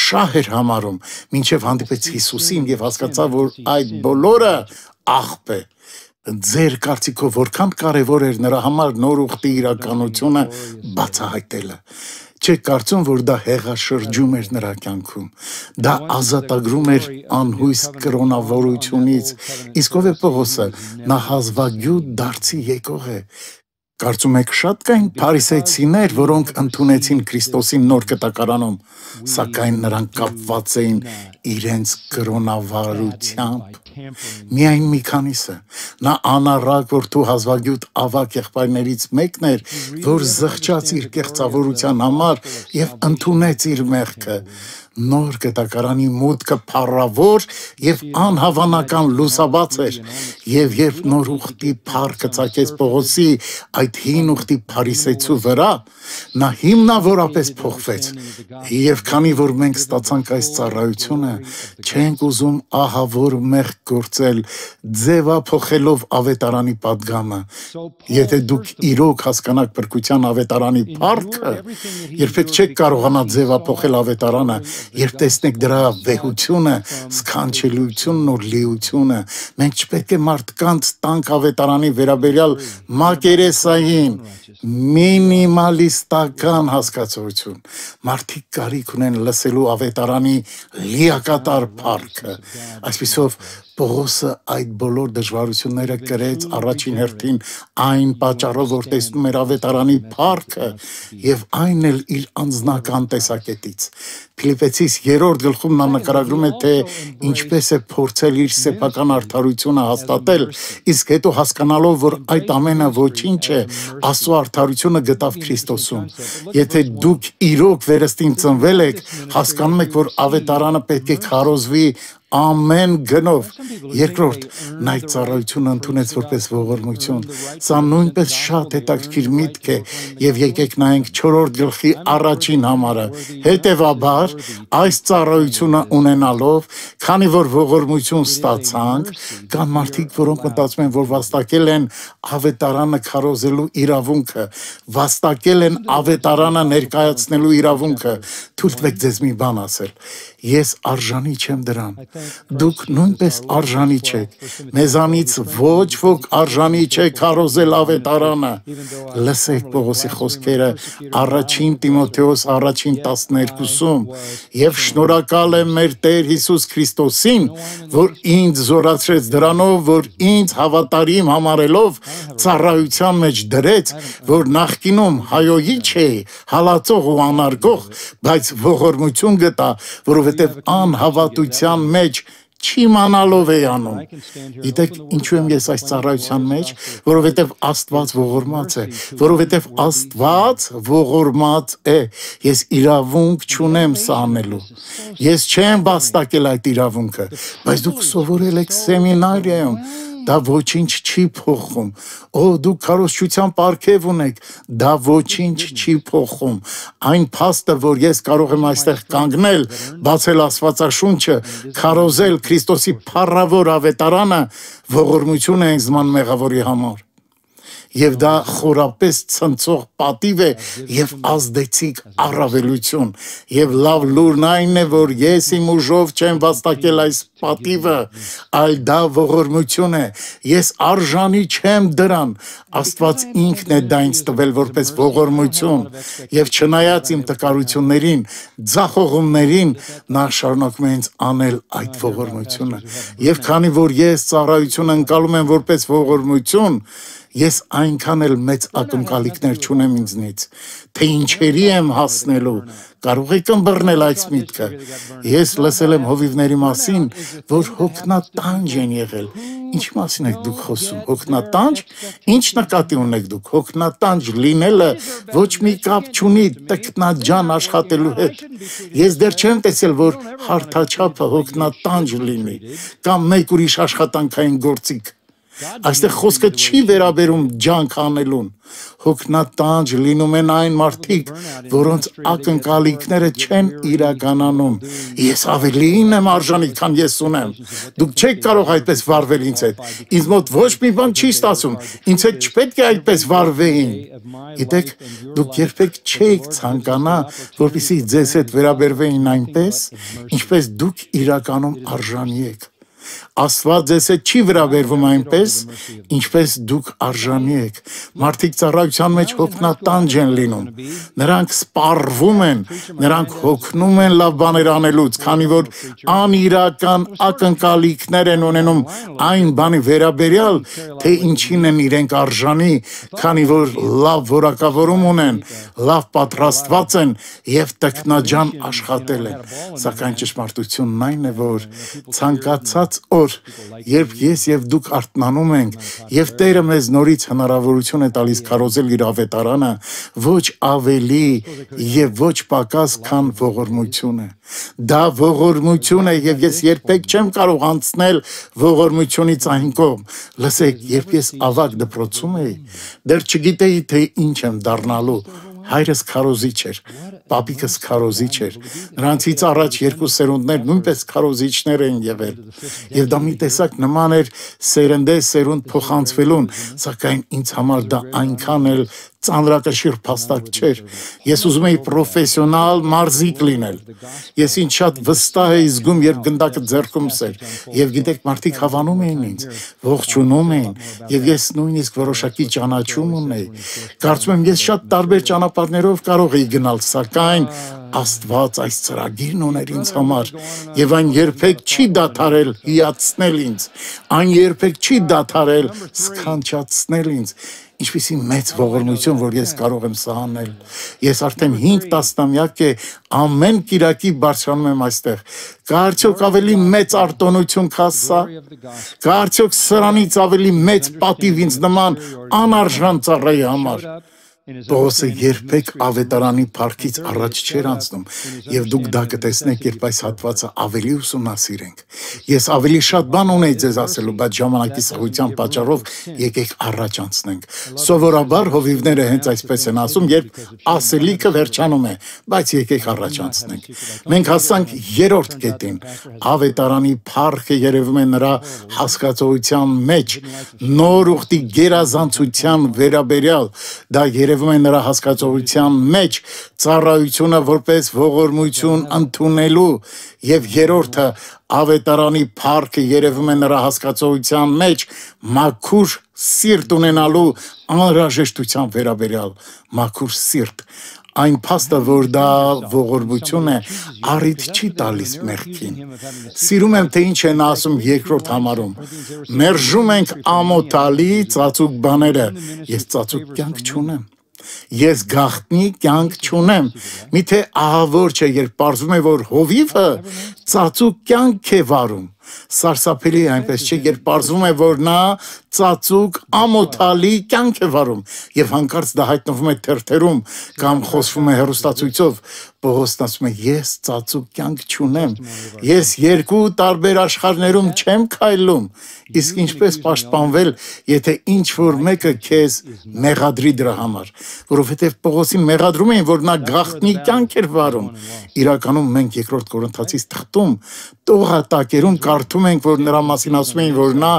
շահ էր համարում, մինչև հանդիպեց Հիսուսին եւ հասկացավ, որ այդ բոլորը աղբ է։ Ձեր կարծիքով որքան կարևոր էր նրա համար նոր ուխտի իրականությունը բացահայտելը։ Չեք կարծում, որ դա հեղաշրջում էր նրա կյանքում, դա ազատագրում էր անհույս կրոնավորությունից, իսկ ով է Պողոսը, նա հազվագյուտ դարձի եկող է։ Կարծում եք շատ կային փարիսեցիներ, որոնք ընդունեցին Քրիստոսին նոր կտակարանում, սակայն նրանք կապված էին իրենց կրոնավարությամբ։ Միայն մի քանիսը։ Նա անառակ, որ դու հազվագյուտ ավակ եղբայրներից մեկն էր, որ զղջաց իր կեղծավորության համար եւ ընդունեց իր մեղքը։ Նոր գտակարանի մուտքը փառավոր եւ անհավանական լուսաբաց էր, եւ երբ նոր ուխտի փառքը ցակեց Պողոսի այդ հին ուխտի փարիսեցու վրա, նա հիմնավորապես փոխվեց։ Եվ քանի որ մենք ստացանք այս ծառայությունը, չենք ուզում ահավոր մեղք գործել, ձևափոխելով ավետարանի պատգամը։ Եթե դուք իրոք հասկանաք փրկության ավետարանի փառքը, երբեք չեք կարողանա ձևափոխել ավետարանը, երբ տեսնեք դրա վեհությունը, սքանչելիությունն ու լիությունը, մենք չպետք է մարդկանց տանք ավետարանի վերաբերյալ մակերեսային, մինիմալիստական հասկացություն։ Մարդիկ կարիք ունեն լսելու ավետարանի լիակատար փառքը։ Այսպիսով Պողոսը այդ բոլոր դժվարությունները կրեց առաջին հերթին այն պատճառով, որ տեսնում էր ավետարանի փառքը եւ այն էլ իր անձնական տեսակետից։ Փիլիպպեցիս երրորդ գլխում նա նկարագրում է, թե ինչպես է փորձել իր սեփական արդարությունը հաստատել, իսկ հետո հասկանալով, որ այդ ամենը ոչինչ է, Աստծո արդարությունը գտավ Քրիստոսում։ Եթե դուք իրոք վերստին ծնվել եք, հասկանում եք, որ ավետարանը պետք է քարոզվի ամեն գնով։ Երկրորդ, նա այդ ծառայությունը ընդունեց որպես ողորմություն։ Սա նույնպես շատ հետաքրքիր միտք է, եւ եկեք նայենք չորրորդ գլխի առաջին համարը։ Հետևաբար, այս ծառայությունը ունենալով, քանի որ ողորմություն ստացանք, կան մարդիկ, որոնք մտածում են, որ վաստակել են ավետարանը քարոզելու իրավունքը, վաստակել են ավետարանը ներկայացնելու իրավունքը։ Թույլ տվեք ձեզ մի բան ասել։ Ես արժանի չեմ դրան։ Դուք նույնպես արժանի չեք։ Մեզանից ոչ ոք արժանի չէ քարոզել ավետարանը։ Լսեք Պողոսի խոսքերը առաջին Տիմոթեոս առաջին տասներկուսում։ Եվ շնորհակալ եմ մեր Տեր Հիսուս Քրիստոսին, որ ինձ զորացրեց դրանով, որ ինձ հավատարիմ համարելով ծառայության մեջ դրեց, որ նախկինում հայոյի չէի, հալածող ու անարգող, բայց ողորմություն գտա, որովհետև անհավատության մեջ չիմանալով է անում։ Գիտեք ինչու եմ ես այս ծառայության մեջ, որովհետև Աստված ողորմած է, որովհետև Աստված ողորմած է։ Ես իրավունք չունեմ սա անելու։ Ես չեմ վաստակել այդ իրավունքը, բայց դուք սովորել եք սեմինարիայում, դա ոչինչ չի փոխում։ Օ, դուք քարոզչության պարգև ունեք, դա ոչինչ չի փոխում։ Այն փաստը, որ ես կարող եմ այստեղ կանգնել, բացել Աստվածաշունչը, քարոզել Քրիստոսի փառավոր ավետարանը, ողորմություն է ինձ ման մեղավորի համար։ Եվ դա խորապես ցնցող պատիվ է եւ ազդեցիկ առավելություն։ Եվ լավ լուրն այն է, որ ես իմ ուժով չեմ վաստակել այս պատիվը, այլ դա ողորմություն է։ Ես արժանի չեմ դրան։ Աստված ինքն է դա ինձ տվել որպես ողորմություն։ Եվ չնայած իմ տկարություններին, ձախողումներին, նա շարունակում է ինձ անել այդ ողորմությունը։ Եվ քանի որ ես ծառայությունը ընկալում եմ որպես ողորմություն, ես այնքան էլ մեծ ակնկալիքներ չունեմ ինձնից, թե ինչերի եմ հասնելու, կարող եք ըմբռնել այս միտքը։ Ես լսել եմ հովիվների մասին, որ հոգնատանջ են եղել։ Ինչ մասին եք դուք խոսում, հոգնատանջ, ինչ նկատի ունեք դուք, հոգնատանջ լինելը ոչ մի կապ չունի տքնաջան աշխատելու հետ։ Ես դեռ չեմ տեսել, որ հարթաչափը հոգնատանջ լինի, կամ մեկ ուրիշ աշխատանքային գործիք։ Այստեղ խոսքը չի վերաբերում ջանք անելուն։ Հոգնատանջ լինում են այն մարդիկ, որոնց ակնկալիքները չեն իրականանում։ Ես ավելին եմ արժանի, քան ես ունեմ։ Դուք չեք կարող այդպես վարվել ինձ հետ։ Ինձ մոտ ոչ մի բան չի ստացում։ Ինձ հետ չպետք է այդպես վարվեին։ Գիտեք, դուք երբեք չեք ցանկանա, որպեսզի ձեզ հետ վերաբերվեին այնպես, ինչպես դուք իրականում արժանի եք։ Աստված ձեզ հետ չի վերաբերվում այնպես, ինչպես դուք արժանի եք։ Մարդիկ ծառայության մեջ հոգնատանջ են լինում։ Նրանք սպառվում են, նրանք հոգնում են լավ բաներ անելուց, քանի որ անիրական ակնկալիքներ են ունենում այն բանի վերաբերյալ, թե ինչին են իրենք արժանի, քանի որ լավ որակավորում ունեն, լավ պատրաստված են եւ տքնաջան աշխատել են։ Սակայն ճշմարտությունն այն է, որ ցանկացած որ երբ ես եւ դուք արթնանում ենք եւ Տերը մեզ նորից հնարավորություն է տալիս քարոզել իր ավետարանը, ոչ ավելի եւ ոչ պակաս, քան ողորմությունը։ Դա ողորմություն է եւ ես երբեք չեմ կարող անցնել ողորմությունից այն կողմ։ Լսեք, երբ ես ավագ դպրոցում էի, դեռ չգիտեի թե ինչ եմ դառնալու։ Հայրս քարոզիչ էր, պապիկս քարոզիչ էր, նրանցից առաջ երկու սերունդներ նույնպես քարոզիչներ են եղել, եւ դա մի տեսակ նման էր սերնդե սերունդ փոխանցվելուն, սակայն ինձ համար դա այնքան էլ ծանրակշիռ փաստակ չէր։ Ես ուզում էի պրոֆեսիոնալ մարզիկ լինել։ Ես ինձ շատ վստահ էի զգում, երբ գնդակը ձեռքումս էր, եւ գիտեք, մարդիկ հավանում էին ինձ, ողջունում էին, եւ ես նույնիսկ որոշակի ճանաչում ունեի։ Կարծում եմ, ես շատ տարբեր ճանապարհներով կարող էի գնալ, սակայն Աստված այս ծրագիրն ուներ ինձ համար, եւ այն երբեք չի դադարել հիացնել ինձ, այն երբեք չի դադարել սքանչացնել ինձ։ Ինչպիսի մեծ ողորմություն, որ ես կարող եմ սահանել։ Ես արդեն հինգ տասնամյակ է ամեն կիրակի բարձրանում եմ այստեղ։ Կարծոք ավելի մեծ արտոնություն քա սա։ Կարծոք սրանից ավելի մեծ պատիվ ինձ նման անարժան ծառայի համար։ Պողոսը երբեք ավետարանի փառքից առաջ չէր անցնում, եւ դուք դա կտեսնեք, երբ այս հատվածը ավելի ուսումնասիրենք։ Ես ավելի շատ բան ունեի ձեզ ասելու, բայց ժամանակի սղության պատճառով եկեք առաջ անցնենք։ Սովորաբար հովիվները հենց այսպես են ասում, երբ ասելիքը վերջանում է, բայց եկեք առաջ անցնենք։ Մենք հասանք երրորդ կետին։ Ավետարանի փառքը երևում է նրա հասկացողության մեջ, նոր ուխտի գերազանցության վերաբերյալ, դա երևում է նրա հասկացողության մեջ, ծառայությունը որպես ողորմություն ընդունելու, եւ երրորդը ավետարանի փառքը երևում է նրա հասկացողության մեջ, մաքուր սիրտ ունենալու անհրաժեշտության վերաբերյալ, մաքուր սիրտ։ Այն փաստը, որ դա ողորմություն է, առիթ չի տալիս մեղքին։ Սիրում եմ, թե ինչ են ասում երկրորդ համարում։ Մերժում ենք ամոթալի ծածուկ բաները, ես ծածուկ կյանք չունեմ։ Ես գաղտնի կյանք չունեմ։ Միթե ահավոր չէ, երբ պարզվում է, որ հովիվը ծածուկ կյանք է վարում։ Սարսափելի է այնպես չէ, երբ պարզվում է, որ նա ծածուկ ամոթալի կյանք է վարում, եւ հանկարծ դա հայտնվում է թերթերում կամ խոսվում է հեռուստացույցով։ Պողոսն ասում է, ես ծածուկ կյանք չունեմ, ես երկու տարբեր աշխարհներում չեմ քայլում, իսկ ինչպես պաշտպանվել, եթե ինչ որ մեկը քեզ մեղադրի դրա համար, որովհետեւ Պողոսին մեղադրում էին, որ նա գաղտնի կյանք էր վարում։ Իրականում մենք երկրորդ Կորինթացիս թղթում տողատակերում կարդում ենք, որ նրա մասին ասում էին, որ նա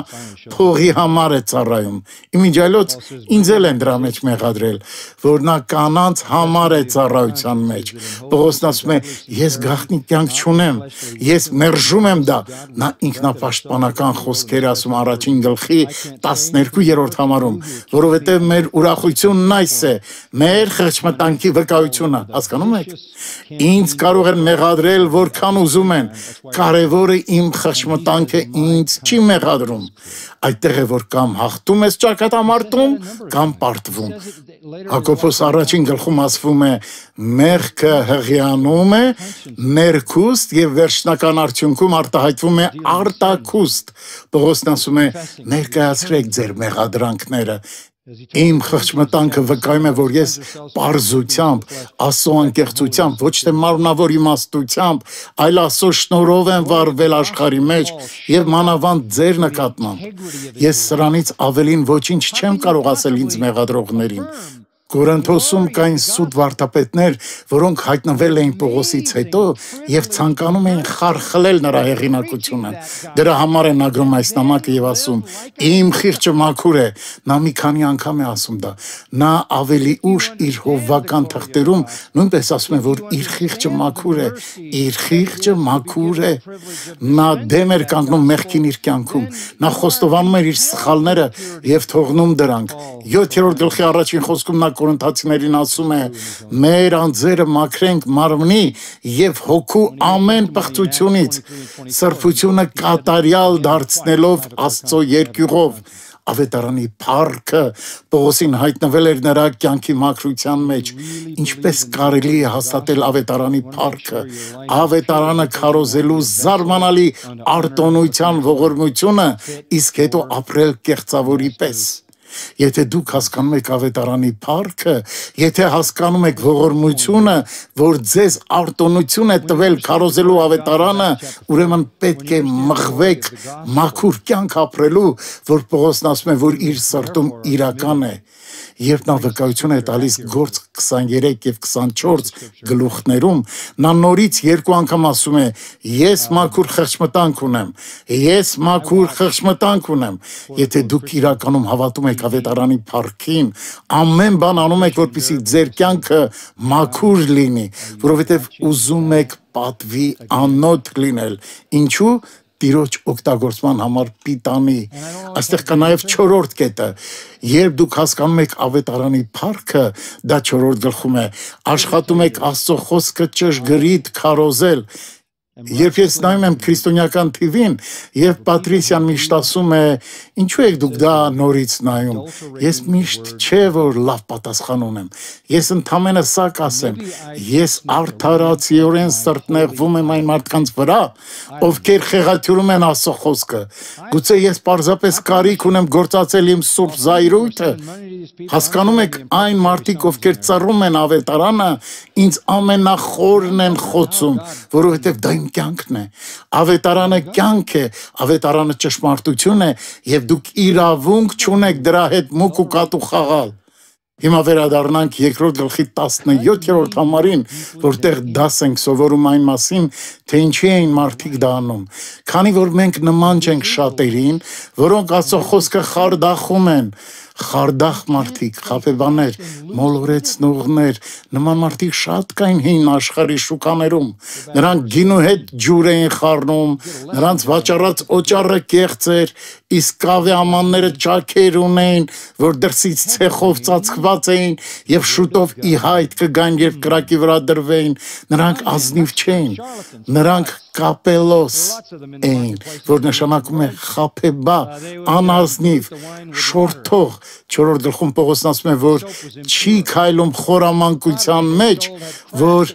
փողի համար է ծառայում։ Իմիջիայլոց ինձ էլ են դրա մեջ մեղադրել, որ նա կանանց համար է ծառայության մեջ։ Պողոսն ասում է, ես գաղտնի կյանք չունեմ, ես մերժում եմ դա։ Նա ինքնապաշտպանական խոսքեր ասում առաջին գլխի տասներկուերորդ համարում, որովհետև մեր ուրախությունն այս է, մեր խղճմտանքի վկայությունը, հասկանում եք։ Ինձ կարող են մեղադրել որքան ուզում են, կարևորը իմ խղճմտանքը ինձ չի մեղադրում։ Այդտեղ է, որ կամ հաղթում ես ճակատամարտում, կամ պարտվում։ Հակոբոս առաջին գլխում ասվում է, մեղքը հղիանում է, ներքուստ եւ վերջնական արդյունքում արտահայտվում է արտաքուստ։ Պողոսն ասում է, ներկայացրեք ձեր մեղադրանքները։ Իմ խղճմտանքը վկայում է, որ ես պարզությամբ, Աստծո անկեղծությամբ, ոչ թե մարմնավոր իմաստությամբ, այլ Աստծո շնորհով եմ վարվել աշխարհի մեջ եւ մանավանդ ձեր նկատմամբ։ Ես սրանից ավելին ոչինչ չեմ կարող ասել ինձ մեղադրողներին։ Կորինթոսում կային սուտ վարդապետներ, որոնք հայտնվել էին Պողոսից հետո եւ ցանկանում էին խարխլել նրա հեղինակությունը։ Դրա համար է նա գրում այս նամակը եւ ասում. «Իմ խիղճը մաքուր է», նա մի քանի անգամ է ասում դա։ Նա ավելի ուշ իր հովվական թղթերում նույնպես ասում է, որ իր խիղճը մաքուր է, իր խիղճը մաքուր է։ Նա դեմ էր կանգնում մեղքին իր կյանքում։ Նա խոստովանում էր իր սխալները եւ թողնում դրանք։ յոթերորդ գլխի առաջին խոսքում նա Կորինթացիներին ասում է. մեր անձերը մաքրենք մարմնի եւ հոգու ամեն պղծությունից, սրբությունը կատարյալ դարձնելով Աստծո երկյուղով, ավետարանի փառքը Պողոսին հայտնվել էր նրա կյանքի մաքրության մեջ, ինչպես կարելի է հաստատել ավետարանի փառքը, ավետարանը քարոզելու զարմանալի արտոնության ողորմությունը, իսկ հետո ապրել կեղծավորի պես։ Եթե դուք հասկանում եք ավետարանի փառքը, եթե հասկանում եք ողորմությունը, որ ձեզ արտոնություն է տվել քարոզելու ավետարանը, ուրեմն պետք է մղվեք մաքուր կյանք ապրելու, որ Պողոսն ասում է, որ իր սրտում իրական է։ Երբ նա վկայություն է տալիս Գործ քսաներեք և քսանչորս գլուխներում, նա նորից երկու անգամ ասում է. ես մաքուր խղճմտանք ունեմ, ես մաքուր խղճմտանք ունեմ։ Եթե դուք իրականում հավատում եք ավետարանի փառքին, ամեն բան անում եք, որպեսզի ձեր կյանքը մաքուր լինի, որովհետև ուզում եք պատվի անոթ լինել։ Ինչու՞։ Տիրոջ օգտագործման համար պիտանի։ Այստեղ կա նաև չորրորդ կետը։ Երբ դուք հասկանում եք ավետարանի փառքը, դա չորրորդ գլխում է, աշխատում եք Աստծո խոսքը ճշգրիտ քարոզել։ Երբ ես նայում եմ քրիստոնեական թիվին, եւ Պատրիսիան միշտ ասում է, ինչու եք դուք դա նորից նայում։ Ես միշտ չէ որ լավ պատասխան ունեմ։ Ես ընդամենը սա կասեմ, ես արդարացիորեն սրտնեղվում եմ այն մարդկանց վրա, ովքեր խեղաթյուրում են Աստծո խոսքը։ Գուցե ես պարզապես կարիք ունեմ գործածել իմ սուրբ զայրույթը։ Հասկանում եք, այն մարդիկ, ովքեր ծառում են ավետարանը, ինձ ամենախորն են խոցում, որովհետև դա իմ կյանքն է։ Ավետարանը կյանք է, ավետարանը ճշմարտություն է, եւ դուք իրավունք չունեք դրա հետ մուկ ու կատու խաղալ։ Հիմա վերադառնանք երկրորդ գլխի տասնյոթերորդ համարին, որտեղ դաս ենք սովորում այն մասին, թե ինչի էին մարդիկ դա անում։ Քանի որ մենք նման չենք շատերին, որոնք Աստծո խոսքը խարդախում են, խարդախ մարդիկ, խաբեբաներ, մոլորեցնողներ, նման մարդիկ շատ կային հին աշխարհի շուկաներում։ Նրանք գինու հետ ջուր էին խառնում, նրանց վաճառած օճառը կեղծ էր, իսկ կավե ամանները ճաքեր ունեին, որ դրսից ցեխով ծածկված էին եւ շուտով ի հայտ կգան, երբ կրակի վրա դրվեին։ Նրանք ազնիվ չէին, նրանք կապելոս էին, որ նշանակում է խաբեբա, անազնիվ, շորթող։ Չորրորդ գլխում Պողոսն ասում է, որ չի քայլում խորամանկության մեջ, որ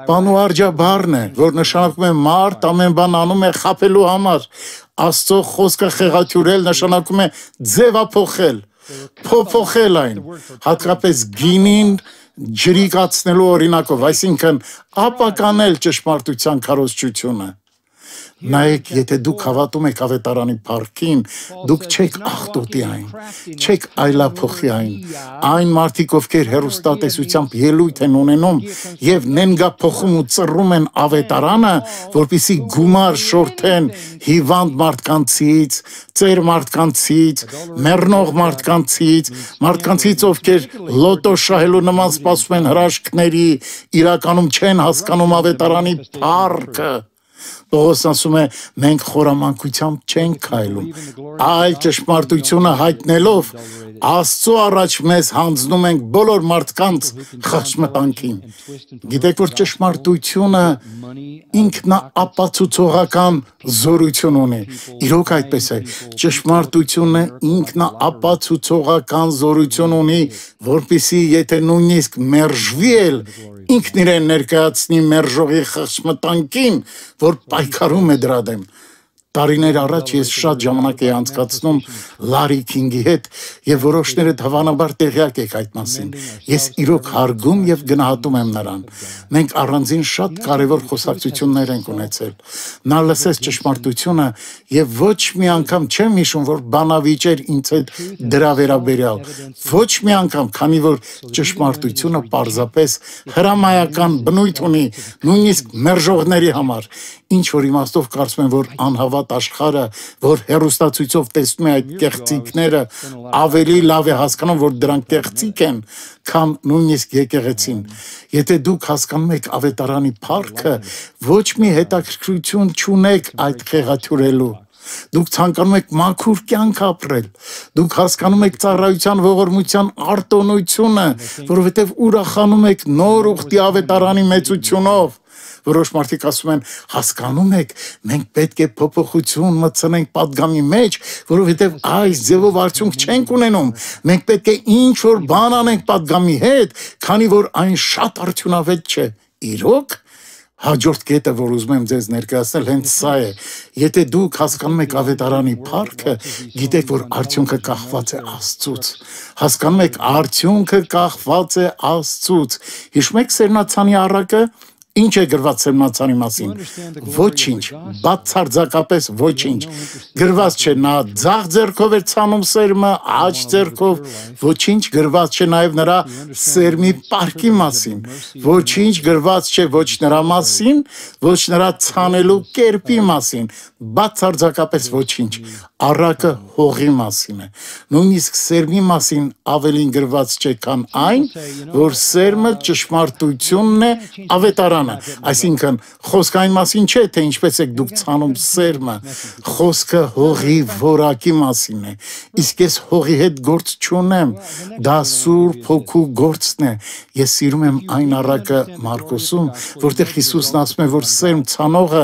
բանուարճաբառն է, որ նշանակում է մարդ ամեն բան անում է խաբելու համար։ Աստծո խոսքը խեղաթյուրել նշանակում է ձևափոխել, փոփոխել այն, հատկապես գինին ջրիկացնելու օրինակով, այսինքն ապականել ճշմարտության քարոզչությունը։ Նայեք, եթե դուք հավատում եք ավետարանի փառքին, դուք չեք աղտոտի այն, չեք այլափոխի այն։ Այն մարդիկ, ովքեր հեռուստատեսությամբ ելույթ են ունենում եւ նենգափոխում ու ծռում են ավետարանը, որպեսզի գումար շորթեն հիվանդ մարդկանցից, ծեր մարդկանցից, մեռնող մարդկանցից, մարդկանցից, ովքեր լոտո շահելու նման սպասում են հրաշքների, իրականում չեն հասկանում ավետարանի փառքը։ Պողոսն ասում է, մենք խորամանկությամբ չենք քայլում, այլ ճշմարտությունը հայտնելով Աստծո առաջ մեզ հանձնում ենք բոլոր մարդկանց խղճմտանքին։ Գիտեք, որ ճշմարտությունը ինքնաապացուցողական զորություն ունի։ Իրոք այդպես է, ճշմարտությունը ինքնաապացուցողական զորություն ունի, որպեսզի եթե նույնիսկ մերժվի էլ, ինքն իրեն ներկայացնի մերժողի խղճմտանքին, որ պայքարում է դրա դեմ։ Տարիներ առաջ ես շատ ժամանակ էի անցկացնում Լարի Քինգի հետ եւ որոշներդ հավանաբար տեղյակ եք այդ մասին։ Ես իրոք հարգում եւ գնահատում եմ նրան։ Մենք առանձին շատ կարեւոր խոսակցություններ ենք ունեցել։ Նա լսեց ճշմարտությունը եւ ոչ մի անգամ չեմ հիշում, որ բանավիճեր ինձ հետ դրա վերաբերյալ։ Ոչ մի անգամ, քանի որ ճշմարտությունը պարզապես հրամայական բնույթ ունի, նույնիսկ մերժողների համար։ Ինչ որ իմաստով կարծում եմ, որ անհավատ աշխարհը, որ հեռուստացույցով տեսնում է այդ կեղծիքները, ավելի լավ է հասկանում, որ դրանք կեղծիք են, քան նույնիսկ եկեղեցին։ Եթե դուք հասկանում եք ավետարանի փառքը, ոչ մի հետաքրքրություն չունեք այդ խեղաթյուրելու։ Դուք ցանկանում եք մաքուր կյանք ապրել։ Դուք հասկանում եք ծառայության ողորմության արտոնությունը, որովհետև ուրախանում եք նոր ուխտի ավետարանի մեծությունով, Որոշ մարդիկ ասում են, հասկանում եք, մենք պետք է փոփոխություն մտցնենք падգամի մեջ, որովհետև այս ձևով արդյունք չենք ունենում։ Մենք պետք է ինչ որ բան անենք падգամի հետ, քանի որ այն շատ արդյունավետ չէ։ Իրոք հաջորդ կետը, որ ուզում եմ ձեզ ներկայացնել, հենց սա է։ Եթե դուք հասկանում եք ավետարանի փառքը, գիտեք, որ արդյունքը կախված է Աստծուց։ Հասկանում եք, արդյունքը կախված է Աստծուց։ Հիշում եք Սերնացանի առակը։ Ինչ է գրված Սերնացանի մասին։ Ոչինչ, բացարձակապես ոչինչ։ Գրված չէ նա ձախ ձեռքով էր ցանում սերմը, աջ ձեռքով, ոչինչ գրված չէ նաև նրա սերմի պարկի մասին։ Ոչինչ գրված չէ ոչ նրա մասին, ոչ նրա ցանելու կերպի մասին, բացարձակապես ոչինչ։ Առակը հողի մասին է։ Նույնիսկ սերմի մասին ավելին գրված չէ, քան այն, որ սերմը ճշմարտությունն է, ավետարանը։ Այսինքն խոսքը այն մասին չէ, թե ինչպես եք դուք ցանում սերմը, խոսքը հողի որակի մասին է։ Իսկ ես հողի հետ գործ չունեմ, դա Սուրբ Հոգու գործն է։ Ես սիրում եմ այն առակը Մարկոսում, որտեղ Հիսուսն ասում է, որ սերմ ցանողը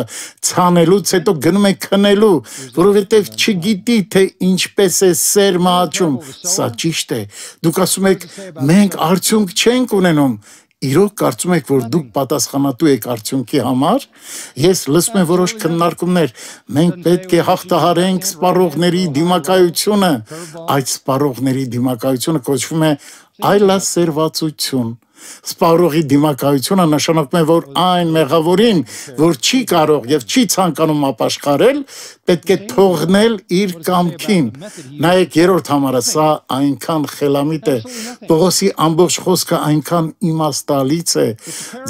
ցանելուց հետո գնում է քնելու, որովհետև չգիտի, թե ինչպես է սերմը աճում։ Սա ճիշտ է։ Դուք ասում եք, մենք արդյունք չենք ունենում։ Իրոք կարծում եք, որ դուք պատասխանատու եք արդյունքի համար։ Ես լսում եմ որոշ քննարկումներ, մենք պետք է հաղթահարենք սպառողների դիմակայությունը։ Այդ սպառողների դիմակայությունը կոչվում է այլասերվածություն։ Սպառողի դիմակայությունը նշանակում է, որ այն մեղավորին, որ չի կարող եւ չի ցանկանում ապաշխարել, պետք է թողնել իր կամքին։ Նայեք երրորդ համարը, սա այնքան խելամիտ է, Պողոսի ամբողջ խոսքը այնքան իմաստալից է։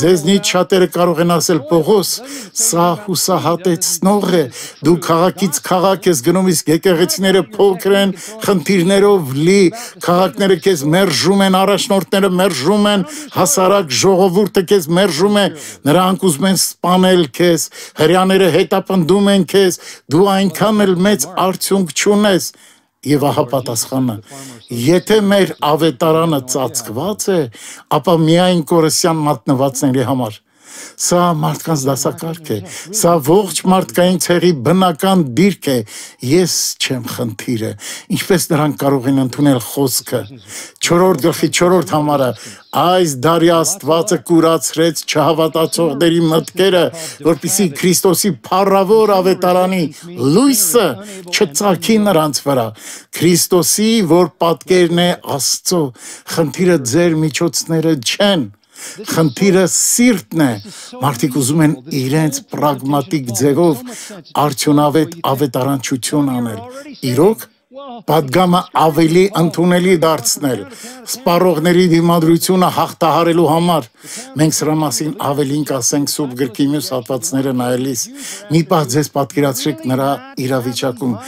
Ձեզնից շատերը կարող են ասել, Պողոս, սա հուսահատեցնող է, դու քաղաքից քաղաք ես գնում, իսկ եկեղեցիները փոքր են, խնդիրներով լի, քաղաքները քեզ մերժում են, առաջնորդները մերժում են, հասարակ ժողովուրդը քեզ մերժում է, նրանք ուզում են սպանել քեզ, հրեաները հետապնդում են քեզ, դու այնքան էլ մեծ արդյունք չունես։ Եվ ահա պատասխանը, եթե մեր ավետարանը ծածկված է, ապա միայն կորսյան մատնվածների համար։ Սա մարդկանց դասակարգ է, սա ողջ մարդկային ցեղի բնական դիրք է, ես չեմ խնդիրը, ինչպես նրանք կարող են ընդունել խոսքը։ Չորրորդ գլխի չորրորդ համարը, այս դարի Աստվածը կուրացրեց չհավատացողների մտքերը, որպեսզի Քրիստոսի փառավոր ավետարանի լույսը չծագի նրանց վրա։ Քրիստոսի, որ պատկերն է Աստծո, խնդիրը ձեր միջոցները չեն։ Խնդիրը սիրտն է։ Մարդիկ ուզում են իրենց պրագմատիկ ձևով արդյունավետ ավետարանչություն անել։ Իրոք падգամը ավելի ընդունելի դարձնել, սպառողների դիմադրությունը հաղթահարելու համար։ Մենք սրա մասին ավելին կասենք Սուրբ գրքի մյուս հատվածները նայելիս։ Մի պահ ձեզ պատկերացրեք նրա իրավիճակում։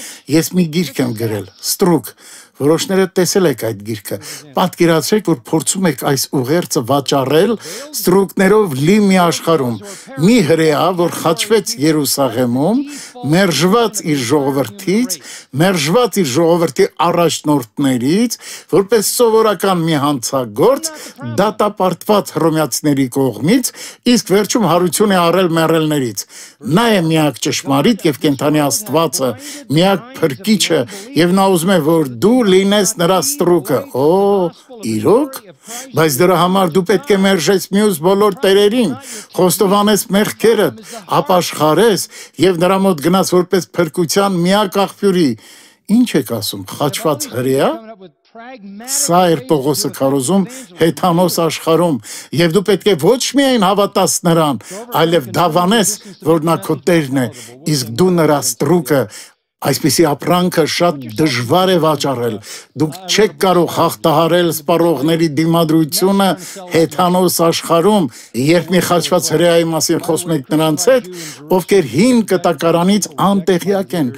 Ես մի գիրք եմ գրել, Ստրուկ։ Որոշները տեսել եք այդ գիրքը։ Պատկերացրեք, որ փորձում եք այս ուղերձը վաճառել ստրուկներով լի մի աշխարհում։ Մի հրեա, որ խաչվեց Երուսաղեմում, մերժված իր ժողովրդից, մերժված իր ժողովրդի առաջնորդներից, որպես սովորական մի հանցագործ, դատապարտված հռոմեացիների կողմից, իսկ վերջում հարություն է առել մեռելներից։ Նա է միակ ճշմարիտ եւ կենդանի Աստվածը, միակ փրկիչը, եւ նա ուզում է, որ դու լինես նրա ստրուկը։ Օ, իրոք, բայց դրա համար դու պետք է մերժես մյուս բոլոր տերերին, խոստովանես մեղքերդ, ապաշխարես եւ նրա մոտ գնաս որպես փրկության միակ աղբյուրի։ Ինչ եք ասում, խաչված հրեա։ Սա էր Պողոսը քարոզում հեթանոս աշխարհում, եւ դու պետք է ոչ միայն հավատաս նրան, այլև դավանես, որ նա քո Տերն է, իսկ դու նրա ստրուկը։ Այսպիսի ապրանքը շատ դժվար է վաճառել։ Դուք չեք կարող հաղթահարել սպառողների դիմադրությունը հեթանոս աշխարհում, երբ մի խաչված հրեայի մասին խոսում եք նրանց հետ, ովքեր հին կտակարանից անտեղյակ են,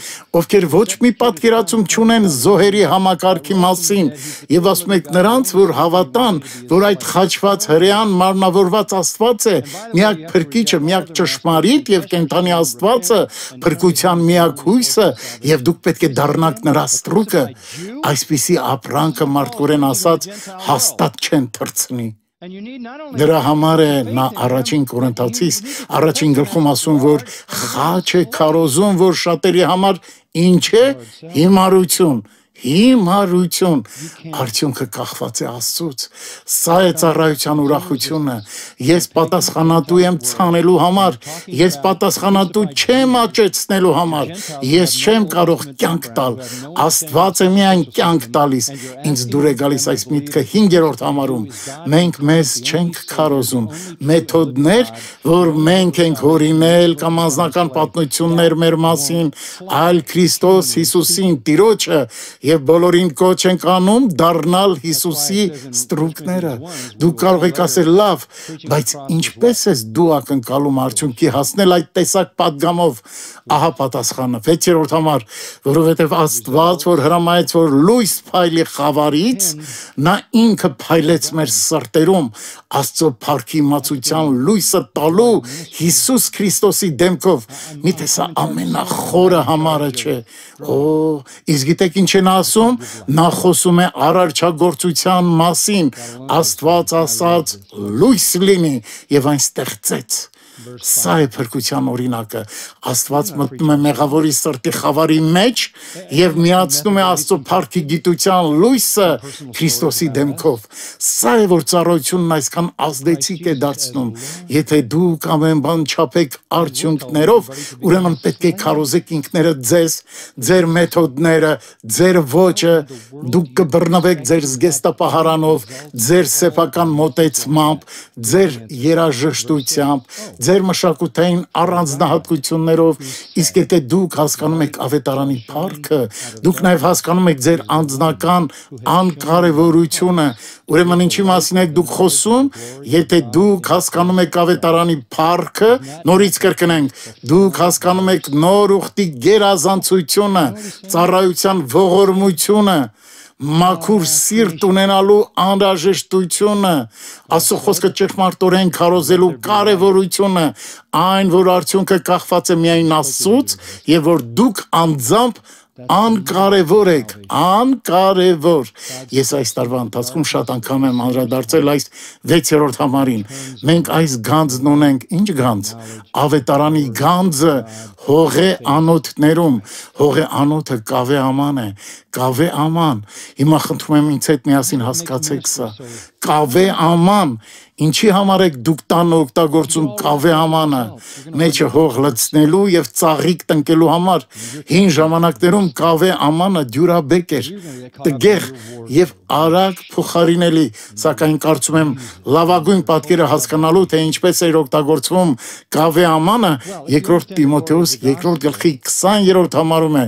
ովքեր ոչ մի պատկերացում չունեն զոհերի համակարգի մասին, եւ ասում եք նրանց, որ հավատան, որ այդ խաչված հրեան մարմնավորված Աստված է, միակ փրկիչը, միակ ճշմարիտ եւ կենդանի Աստվածը, փրկության միակ հույսը, եւ դուք պետք է դառնաք նրա ստրուկը, այսպիսի ապրանքը մարդկորեն ասած հաստատ չեն թռցնի։ Դրա համար է նա առաջին Կորինթացիս առաջին գլխում ասում, որ խաչ է քարոզում, որ շատերի համար ինչ է հիմարություն, հիմարություն, արդյունքը կախված է Աստծուց։ Սա է ծառայության ուրախությունը։ Ես պատասխանատու եմ ցանելու համար, ես պատասխանատու չեմ աճեցնելու համար, ես չեմ կարող կյանք տալ, Աստված է միայն կյանք տալիս։ Ինձ դուր է գալիս այս միտքը հինգերորդ համարում։ Մենք մեզ չենք քարոզում, մեթոդներ, որ մենք ենք հորինել կամ անձնական պատմություններ մեր մասին, այլ Քրիստոս Հիսուսին Տիրոջը եւ բոլորին կոչ ենք անում դառնալ Հիսուսի ստրուկները։ Դու կարող եք ասել լավ, բայց ինչպես ես դու ակնկալում արդյունքի հասնել այդ տեսակ պատգամով։ Ահա պատասխանը վեցերորդ համար, որովհետև Աստված, որ հրամայեց, որ լույս փայլի խավարից, նա ինքը փայլեց մեր սրտերում Աստծո փառքի իմացության լույսը տալու Հիսուս Քրիստոսի դեմքով։ Միթե սա ամենախորը համարը չէ։ Օ, իսկ գիտեք ինչ են ասում, նա խոսում է արարչագործության մասին, Աստված ասաց լույս լինի եւ այն ստեղծեց։ Սա է փրկության օրինակը։ Աստված մտնում է մեղավորի սրտի խավարի մեջ եւ միացնում է Աստծո փառքի գիտության լույսը Քրիստոսի դեմքով։ Սա է որ ծառայությունն այսքան ազդեցիկ է դարձնում։ Եթե դուք ամեն բան չափեք արդյունքներով, ուրեմն պետք է քարոզեք ինքներդ ձեզ, ձեր մեթոդները, ձեր ոճը, դուք կբռնվեք ձեր զգեստապահարանով, ձեր սեփական մոտեցմամբ, ձեր երաժշտությամբ, ձեր մշակութային առանձնահատկություններով, իսկ եթե դուք հասկանում եք ավետարանի փառքը, դուք նաև հասկանում եք ձեր անձնական անկարևորությունը, ուրեմն ինչի մասին եք դուք խոսում, եթե դուք հասկանում եք ավետարանի փառքը, նորից կրկնենք, դուք հասկանում եք նոր ուխտի գերազանցությունը, ծառայության ողորմությունը, մաքուր սիրտ ունենալու անհրաժեշտությունը, Աստծո խոսքը ճշմարտորեն քարոզելու կարևորությունը, այն որ արդյունքը կախված է միայն Աստծուց եւ որ դուք անձամբ անկարևոր եք, անկարևոր։ Ես այս տարվա ընթացքում շատ անգամ եմ անդրադարձել այս վեցերորդ համարին։ Մենք այս գանձն ունենք, ինչ գանձ, ավետարանի գանձը հողե անոթներում, հողե անոթը կավե աման է, կավե աման։ Հիմա խնդրում եմ ինձ հետ միասին հասկացեք սա, կավե աման, ինչի համար եք դուք տանը օգտագործում կավե ամանը, մեջը հող լցնելու եւ ծաղիկ տնկելու համար։ Հին ժամանակներում կավե ամանը դյուրաբեկ էր, տգեղ եւ արագ փոխարինելի, սակայն կարծում եմ լավագույն պատկերը հասկանալու թե ինչպես էր օգտագործվում կավե ամանը, երկրորդ Տիմոթեոս երկրորդ գլխի քսաներորդ համարում է,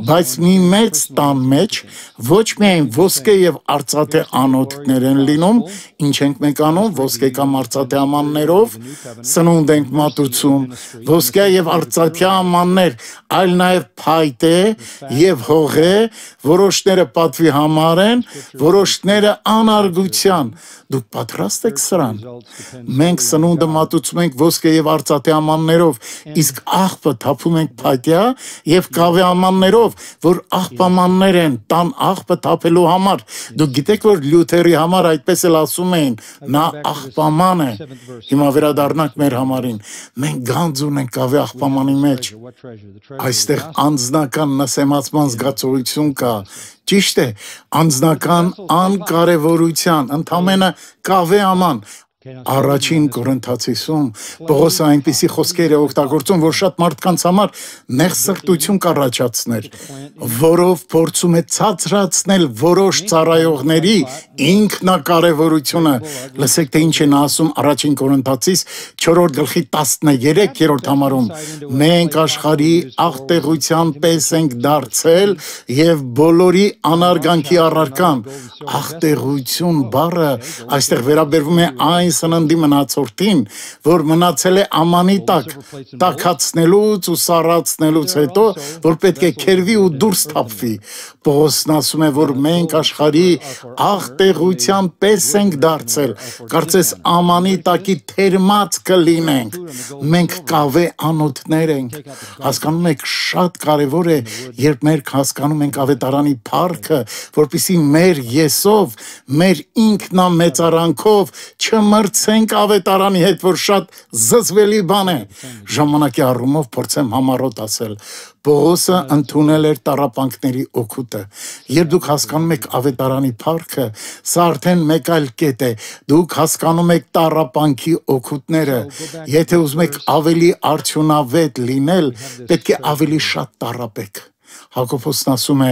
բայց մի մեծ տան մեջ ոչ միայն ոսկե եւ արծաթե անոթներ են լինում, ինչ ենք մենք անում, ոսկե կամ արծաթե ամաններով սնունդ ենք մատուցում, ոսկե եւ արծաթե ամաններ, այլ նաեւ փայտե եւ հողե, որոշները պատվի համար են, որոշները անարգության։ Դուք պատրաստ եք սրան։ Մենք սնունդը մատուցում ենք ոսկե եւ արծաթե ամաններով, իսկ աղբը թափում ենք փայտյա եւ կավե ամաններով, որ աղբամաններ են, տան աղբը թափելու համար։ Դուք գիտեք, որ Լյութերի համար այդպես էլ ասում էին, նա աղբաման է։ Հիմա վերադառնանք մեր համարին։ Մենք գանձ ունենք կավե աղբամանի մեջ։ Այստեղ անձնական նսեմացման զգացողություն կա։ Ճիշտ է, անձնական անկարևորության, ընդամենը կավե աման։ Առաջին Կորինթացիսում Պողոսը այնպիսի խոսքեր է օգտագործում, որ շատ մարդկանց համար նեղսրտություն կառաջացներ, որով փորձում է ցածրացնել որոշ ծառայողների ինքնակարևորությունը։ Լսեք, թե ինչ են ասում առաջին Կորինթացիս չորրորդ գլխի տասներորդ համարում. մենք աշխարհի աղտեղության պես ենք դարձել եւ բոլորի անարգանքի առարկան։ Աղտեղություն բառը այստեղ վերաբերվում է այն սննդի մնացորդին, որ մնացել է ամանի տակ, տաքացնելուց ու սառացնելուց հետո, որ պետք է քերվի ու դուրս թափվի։ Պողոսն ասում է, որ մենք աշխարհի աղտեղության պես ենք դարձել, կարծես ամանի տակի թերմած կլինենք, մենք կավե անոթներ ենք։ Հասկանում եք, շատ կարևոր է, երբ մենք հասկանում ենք ավետարանի փառքը, որպեսզի մեր եսով, մեր ինքնամեծարանքով չմրցենք ավետարանի հետ, որ շատ զզվելի բան է։ Ժամանակի առումով փորձեմ համառոտ ասել, Պողոսը ընդունել էր տառապանքների օգուտը։ Երբ դուք հասկանում եք ավետարանի փառքը, սա արդեն մեկ այլ կետ է, դուք հասկանում եք տառապանքի օգուտները։ Եթե ուզում եք ավելի արդյունավետ լինել, պետք է ավելի շատ տառապեք։ Հակոբոսն ասում է,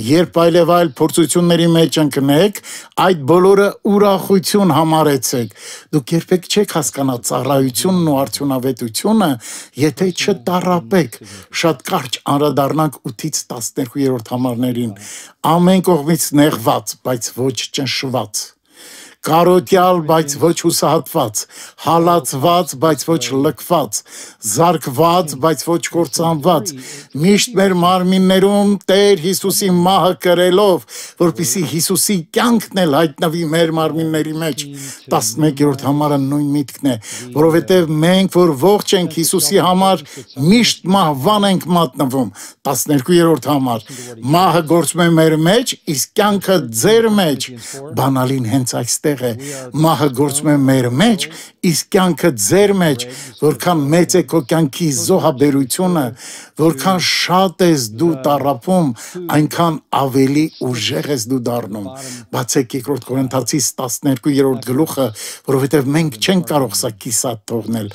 երբ այլև այլ փորձությունների մեջ ընկնեք, այդ բոլորը ուրախություն համարեցեք։ Դուք երբեք չեք հասկանա ծառայությունն ու արդյունավետությունը, եթե չտառապեք։ Շատ կարճ անդրադառնանք ութից տասներկուերորդ համարներին։ Ամեն կողմից նեղված, բայց ոչ ճնշված։ Կարոտյալ, բայց ոչ հուսահատված, հալածված, բայց ոչ լքված, զարկված, բայց ոչ կործանված, միշտ մեր մարմիններում Տեր Հիսուսի մահը կրելով, որպեսզի Հիսուսի կյանքն էլ հայտնվի մեր մարմինների մեջ։ տասնմեկերորդ համարը նույն միտքն է, որովհետև մենք, որ ողջ ենք Հիսուսի համար, միշտ մահվան ենք մատնվում։ տասներկուերորդ համար, մահը գործում է մեր մեջ, իսկ կյանքը ձեր մեջ։ Բանալին հենց այստեղ է, մահը գործում է մեր մեջ, իսկ կյանքը ձեր մեջ, որքան մեծ է քո կյանքի զոհաբերությունը, որքան շատ ես դու տառապում, այնքան ավելի ուժեղ ես դու դառնում։ Բացեք երկրորդ Կորինթացիս տասներկուերորդ գլուխը, որովհետև մենք չենք կարող սա կիսատ թողնել։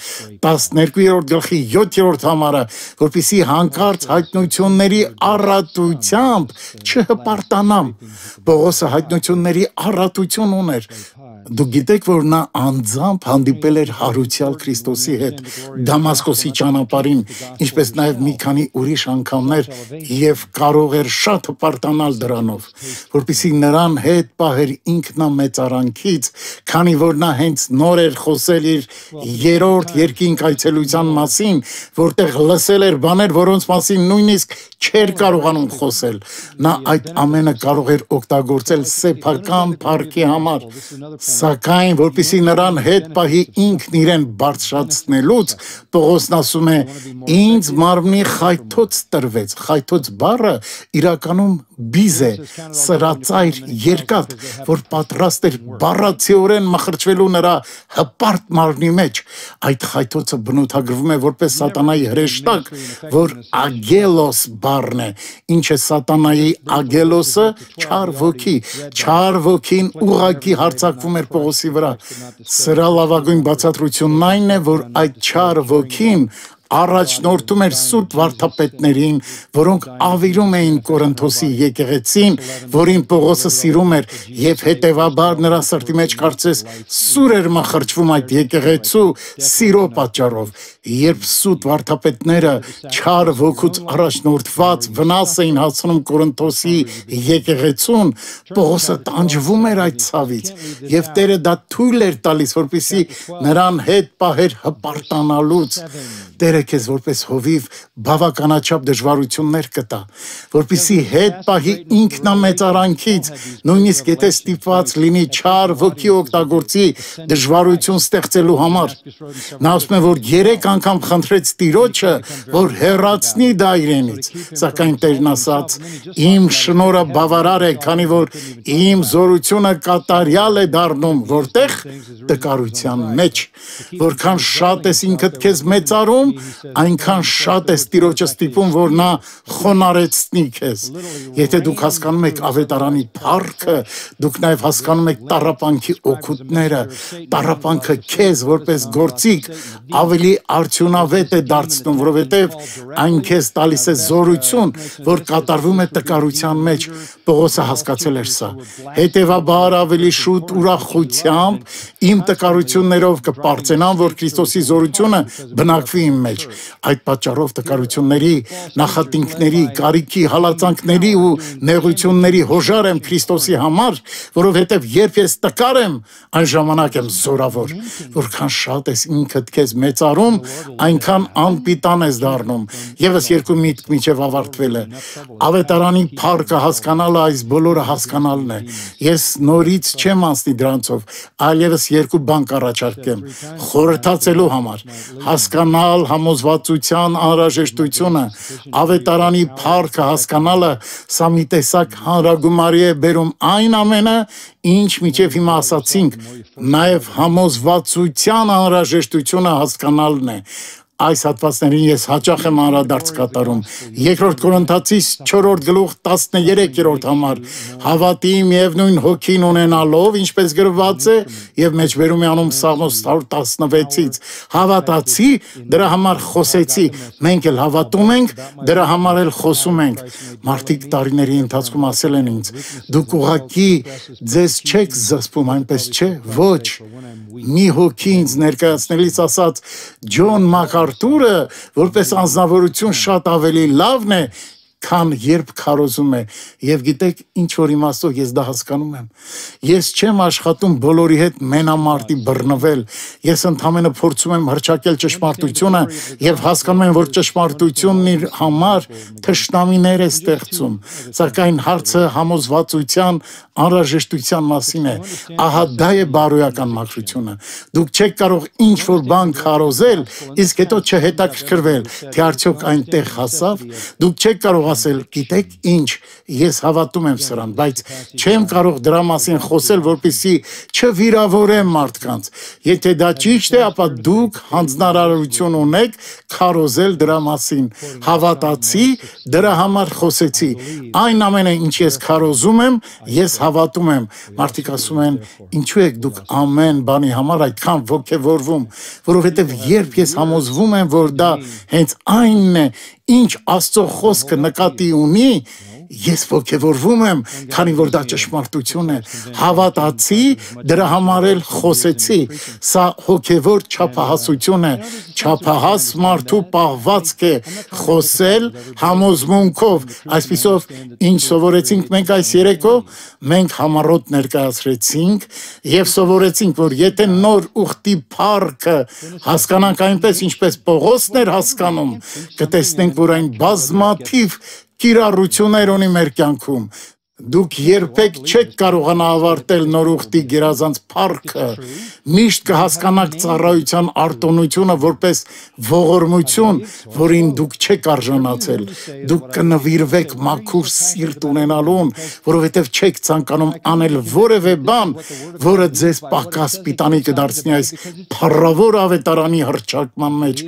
տասներկուերորդ գլխի յոթերորդ համարը, որպեսզի հանկարծ հայտնությունների առատությամբ չհպարտանամ։ Պողոսը հայտնությունների առատություն ուներ։ Դուք գիտեք, որ նա անձամբ հանդիպել էր հարուցյալ Քրիստոսի հետ Դամասկոսի ճանապարհին, ինչպես նաև մի քանի ուրիշ անգամներ, եւ կարող էր շատ հպարտանալ դրանով, որպեսզի նրան հետ պահեր ինքնամեծարանքից, քանի որ նա հենց նոր էր խոսել իր երրորդ երկինք այցելության մասին, որտեղ լսել էր բաներ, որոնց մասին նույնիսկ չէր կարողանում խոսել։ Նա այդ ամենը կարող էր օգտագործել սեփական փառքի համար, սակայն որպեսզի նրան հետ պահի ինքն իրեն բարձրացնելուց, Պողոսն ասում է, ինձ մարմնի խայթոց տրվեց։ Խայթոց բառը իրականում բիզ է, սրածայր, երկաթ, որ պատրաստ էր բառացիորեն մխրճվելու նրա հպարտ մարմնի մեջ։ Այդ խայթոցը բնութագրվում է որպես սատանայի հրեշտակ, որ ագելոս բառն է։ Ինչ է սատանայի ագելոսը? Չար ոգի։ Չար ոգին ուղղակի հարձակվում էր Պողոսի վրա։ Սրա լավագույն բացատրությունն այն է, որ այդ չար ոգին առաջնորդում էր սուրբ վարդապետներին, որոնք ավիրում էին Կորինթոսի եկեղեցին, որին Պողոսը սիրում էր, եւ հետեւաբար նրա սրտի մեջ կարծես սուր էր մխրճվում այդ եկեղեցու սիրո պատճառով։ Երբ սուտ վարդապետները չար ոգուց առաջնորդված վնաս էին հասցնում Կորինթոսի եկեղեցուն, Պողոսը տանջվում էր այդ ցավից, եւ Տերը դա թույլ էր տալիս, որպեսզի նրան հետ պահեր հպարտանալուց։ Տերը քեզ որպես հովիվ բավականաչափ դժվարություններ կտա, որպեսզի հետ պահի ինքնամեծարանքից, նույնիսկ եթե ստիպված լինի չար ոգի օգտագործի դժվարություն ստեղծելու համար։ Նա ասում է, որ երեք անգամ խնդրեց Տիրոջը, որ հեռացնի դա իրենից, սակայն Տերն ասաց, իմ շնորհը բավարար է, քանի որ իմ զորությունը կատարյալ է դառնում, որտեղ տկարության մեջ, որքան շատ ես ինքդ քեզ մեծարում, այնքան շատ ես Տիրոջը ստիպում, որ նա խոնարեցնի քեզ։ Եթե դուք հասկանում եք ավետարանի փառքը, դուք նաև հասկանում եք տառապանքի օգուտները։ Տառապանքը քեզ որպես գործիք ավելի արդյունավետ է դարձնում, որովհետև այն քեզ տալիս է զորություն, որ կատարվում է տկարության մեջ։ Պողոսը հասկացել էր սա։ Հետևաբար ավելի շուտ ուրախությամբ իմ տկարություններով կպարծենամ, որ Քրիստոսի զորությունը բնակվի իմ մեջ։ մեջ։ Այդ պատճառով տկարությունների, նախատինքների, կարիքի, հալածանքների ու նեղությունների հոժար եմ Քրիստոսի համար, որովհետև երբ ես տկար եմ, այն ժամանակ եմ զորավոր, որքան շատ ես ինքդ քեզ մեծարում, այնքան անպիտան ես դառնում։ Եվս երկու միտք միջև ավարտվել է։ Ավետարանի փառքը հասկանալը այս բոլորը հասկանալն է։ Ես նորից չեմ անցնի դրանցով, այլևս երկու բան կառաջարկեմ խորհրդացելու համար, հասկանալ համոզվածության անհրաժեշտությունը, ավետարանի փառքը հասկանալը, սա մի տեսակ հանրագումարի է բերում այն ամենը, ինչ միջև հիմա ասացինք, նաև համոզվածության անհրաժեշտությունը հասկանալն է։ Այս հատվածներին ես հաճախ եմ անդրադարձ կատարում։ Երկրորդ Կորինթացիս չորրորդ գլուխ տասներեքերորդ համար հավատի միևնույն հոգին ունենալով, ինչպես գրված է, եւ մեջբերում է անում Սաղմոս հարյուր տասնվեցից, հավատացի, դրա համար խոսեցի, մենք էլ հավատում ենք, դրա համար էլ խոսում ենք։ Մարդիկ տարիների ընթացքում ասել են ինձ, դուք ուղղակի ձեզ չեք զսպում, այնպես չէ, ոչ։ Մի հոգի ինձ ներկայացնելիս ասաց, Ջոն Մակարթուրը, որպես անձնավորություն շատ ավելի լավն է, քան երբ քարոզում է, եւ գիտեք ինչ որ իմաստով ես դա հասկանում եմ։ Ես չեմ աշխատում բոլորի հետ մենամարտի բռնվել, ես ընդհանրապես փորձում եմ հրճակել ճշմարտությունը եւ հասկանում եմ, որ ճշմարտությունն իր համար թշնամիներ է ստեղծում, սակայն հարցը համոզվածության անհրաժեշտության մասին է։ Ահա դա է բարոյական մաքրությունը։ Դուք չեք կարող ինչ որ բան քարոզել, իսկ հետո չհետաքրքրվել, թե արդյոք այնտեղ հասավ։ Դուք չեք կարող ասել, գիտեք ինչ, ես հավատում եմ սրան, բայց չեմ կարող դրա մասին խոսել, որպեսզի չվիրավորեմ մարդկանց։ Եթե դա ճիշտ է, ապա դուք հանձնարարություն ունեք քարոզել դրա մասին։ Հավատացի, դրա համար խոսեցի։ Այն ամենը, ինչ ես քարոզում եմ, ես հավատում եմ։ Մարդիկ ասում են, ինչու եք դուք ամեն բանի համար այդքան ոգևորվում, որովհետև երբ ես համոզվում եմ, որ դա հենց այնն է, ինչ Աստծո խոսքը նկատի ունի, ես ոգևորվում եմ, քանի որ դա ճշմարտություն է, հավատացի, դրա համար էլ խոսեցի, սա հոգևոր չափահասություն է, չափահաս մարդու պահվածք է խոսել համոզմունքով, այսպիսով ինչ սովորեցինք մենք այս երեկո, մենք համառոտ ներկայացրեցինք եւ սովորեցինք, որ եթե նոր ուխտի փառքը հասկանանք այնպես, ինչպես Պողոսն էր հասկանում, կտեսնենք, որ այն բազմաթիվ կիրառություններ ունի մեր կյանքում։ Դուք երբեք չեք կարողանա ավարտել նոր ուխտի գերազանց փառքը, միշտ կհասկանաք ծառայության արտոնությունը որպես ողորմություն, որին դուք չեք արժանացել։ Դուք կնվիրվեք մաքուր սիրտ ունենալուն, որովհետև չեք ցանկանում անել որևէ բան, որը ձեզ պակաս պիտանի կդարձնի այս փառավոր ավետարանի հռչակման մեջ։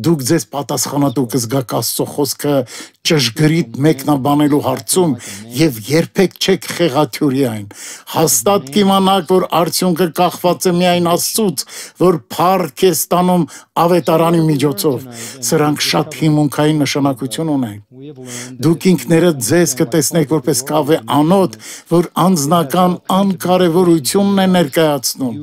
Դուք ձեզ պատասխանատու կզգաք Աստծո խոսքը ճշգրիտ մեկնաբանելու հարցում եւ երբեք չեք խեղաթյուրի այն։ Հաստատ կիմանաք, որ արդյունքը կախված է միայն Աստծուց, որ փառք է ստանում ավետարանի միջոցով։ Սրանք շատ հիմունքային նշանակություն ունեն։ Դուք ինքներդ ձեզ կտեսնեք որպես կավե անոթ, որ անձնական անկարևորությունն է ներկայացնում։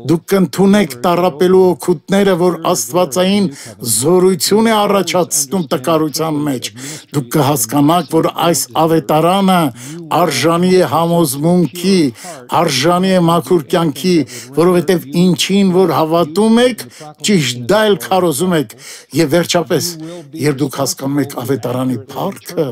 Դուք կընդունեք տառապելու օգուտները, որ աստվածային զորություն է առաջացնում տկարության մեջ։ Դուք կհասկանաք, որ այս ավետարանը արժանի է համոզմունքի, արժանի է մաքուր կյանքի, որովհետև ինչին որ հավատում եք, ճիշտ դա էլ քարոզում եք։ Եվ վերջապես, երբ դուք հասկանում եք ավետարանի փառքը,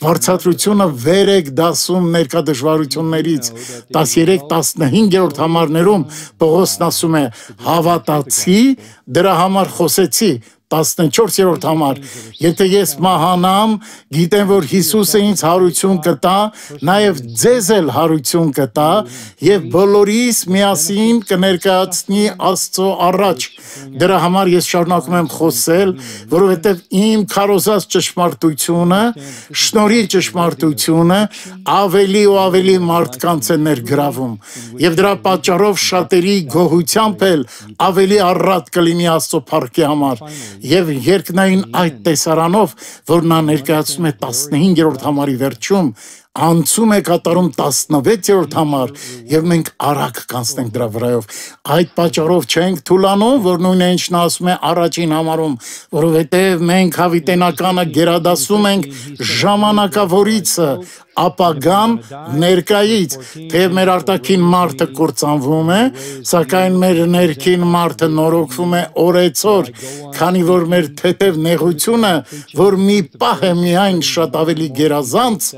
վարձատրությունը վեր եք դասում ներկա դժվարություններից։ տասներեք տասնհինգերորդ համարներում Պողոսն ասում է. հավատացի, դրա համար խոսեցի։ տասնչորսերորդ համար, եթե ես մահանամ, գիտեմ, որ Հիսուսը ինձ հարություն կտա, նաև ձեզ էլ հարություն կտա, եւ բոլորիս միասին կներկայացնի Աստծո առաջ։ Դրա համար ես շարունակում եմ խոսել, որովհետև իմ քարոզած ճշմարտությունը, շնորհի ճշմարտությունը ավելի ու ավելի մարդկանց է ներգրավում, եւ դրա պատճառով շատերի գոհությամբ էլ ավելի առատ կլինի Աստծո փառքի համար։ Եվ երկնային այդ տեսարանով, որ նա ներկայացնում է տասնհինգերորդ համարի վերջում, անցում է կատարում տասնվեցերորդ համար եւ մենք արագ կանցնենք դրա վրայով։ Այդ պատճառով չենք թուլանում, որ նույնը ինչն ասում է առաջին համարում, որովհետեւ մենք հավիտենականը գերադասում ենք ժամանակավորիցը, ապագան ներկայից, թեև մեր արտաքին մարդը կործանվում է, սակայն մեր ներքին մարդը նորոգվում է օրեցօր, քանի որ մեր թեթև նեղությունը, որ մի պահ է միայն շատ ավելի գերազանց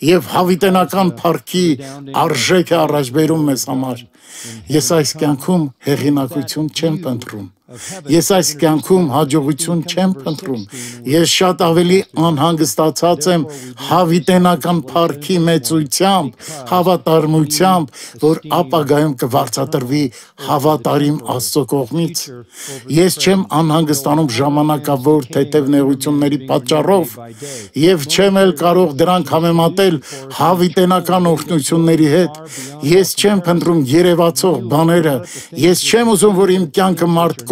եւ հավիտենական փառքի արժեք է առաջ բերում մեզ համար։ Ես այս կյանքում հեղինակություն չեմ փնտրում։ Ես այս կյանքում հաջողություն չեմ փնտրում։ Ես շատ ավելի անհանգստացած եմ հավիտենական փառքի մեծությամբ, հավատարմությամբ, որ ապագայում կվարձատրվի հավատարիմ Աստծո կողմից։ Ես չեմ անհանգստանում ժամանակավոր թեթև նեղությունների պատճառով եւ չեմ էլ կարող դրանք համեմատել հավիտենական օրհնությունների հետ։ Ես չեմ փնտրում երևացող բաները։ Ես չեմ ուզում, որ իմ կյանքը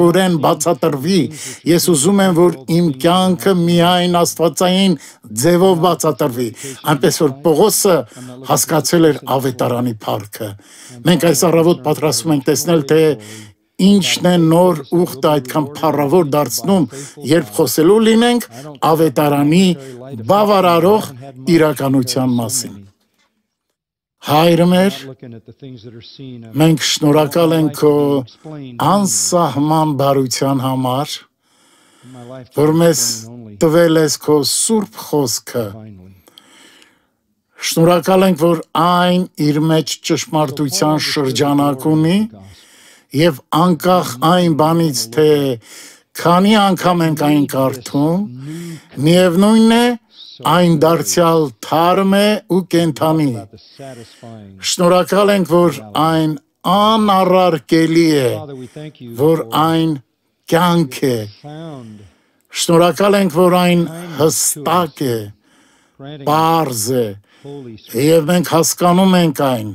մարդկորեն բացատրվի, ես ուզում եմ, որ իմ կյանքը միայն աստվածային ձևով բացատրվի, այնպես որ Պողոսը հասկացել էր ավետարանի փառքը։ Մենք այս առավոտ պատրաստվում ենք տեսնել, թե ինչն է նոր ուխտը այդքան փառավոր դարձնում, երբ խոսելու լինենք ավետարանի բավարարող իրականության մասին։ Հայր մեր, մենք շնորհակալ ենք քո անսահման բարության համար, որ մեզ տվել ես քո սուրբ խոսքը։ Շնորհակալ ենք, որ այն իր մեջ ճշմարտության շրջանակ ունի եւ անկախ այն բանից, թե քանի անգամ ենք այն կարդում, միևնույն է, այն դարձյալ թարմ է ու կենդանի։ Շնորհակալ ենք, որ այն անառարկելի է, որ այն կյանք է։ Շնորհակալ ենք, որ այն հստակ է, պարզ է, եւ մենք հասկանում ենք այն։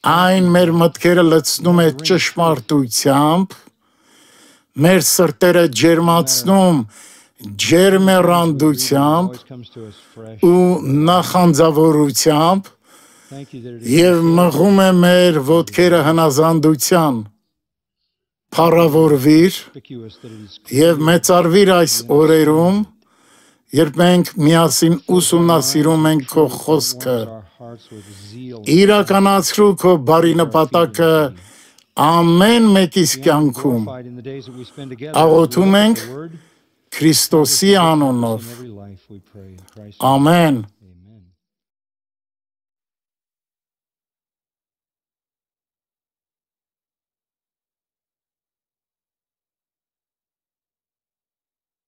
Այն մեր մտքերը լցնում է ճշմարտությամբ, մեր սրտերը ջերմացնում ջերմեռանդությամբ ու նախանձավորությամբ եւ մղում է մեր ոտքերը հնազանդության։ Փառավորվիր եւ մեծարվիր այս օրերում, երբ մենք միասին ուսումնասիրում ենք քո խոսքը։ Իրականացրու քո բարի նպատակը ամեն մեկիս կյանքում։ Աղոթում ենք Քրիստոսի անունով։ Ամեն։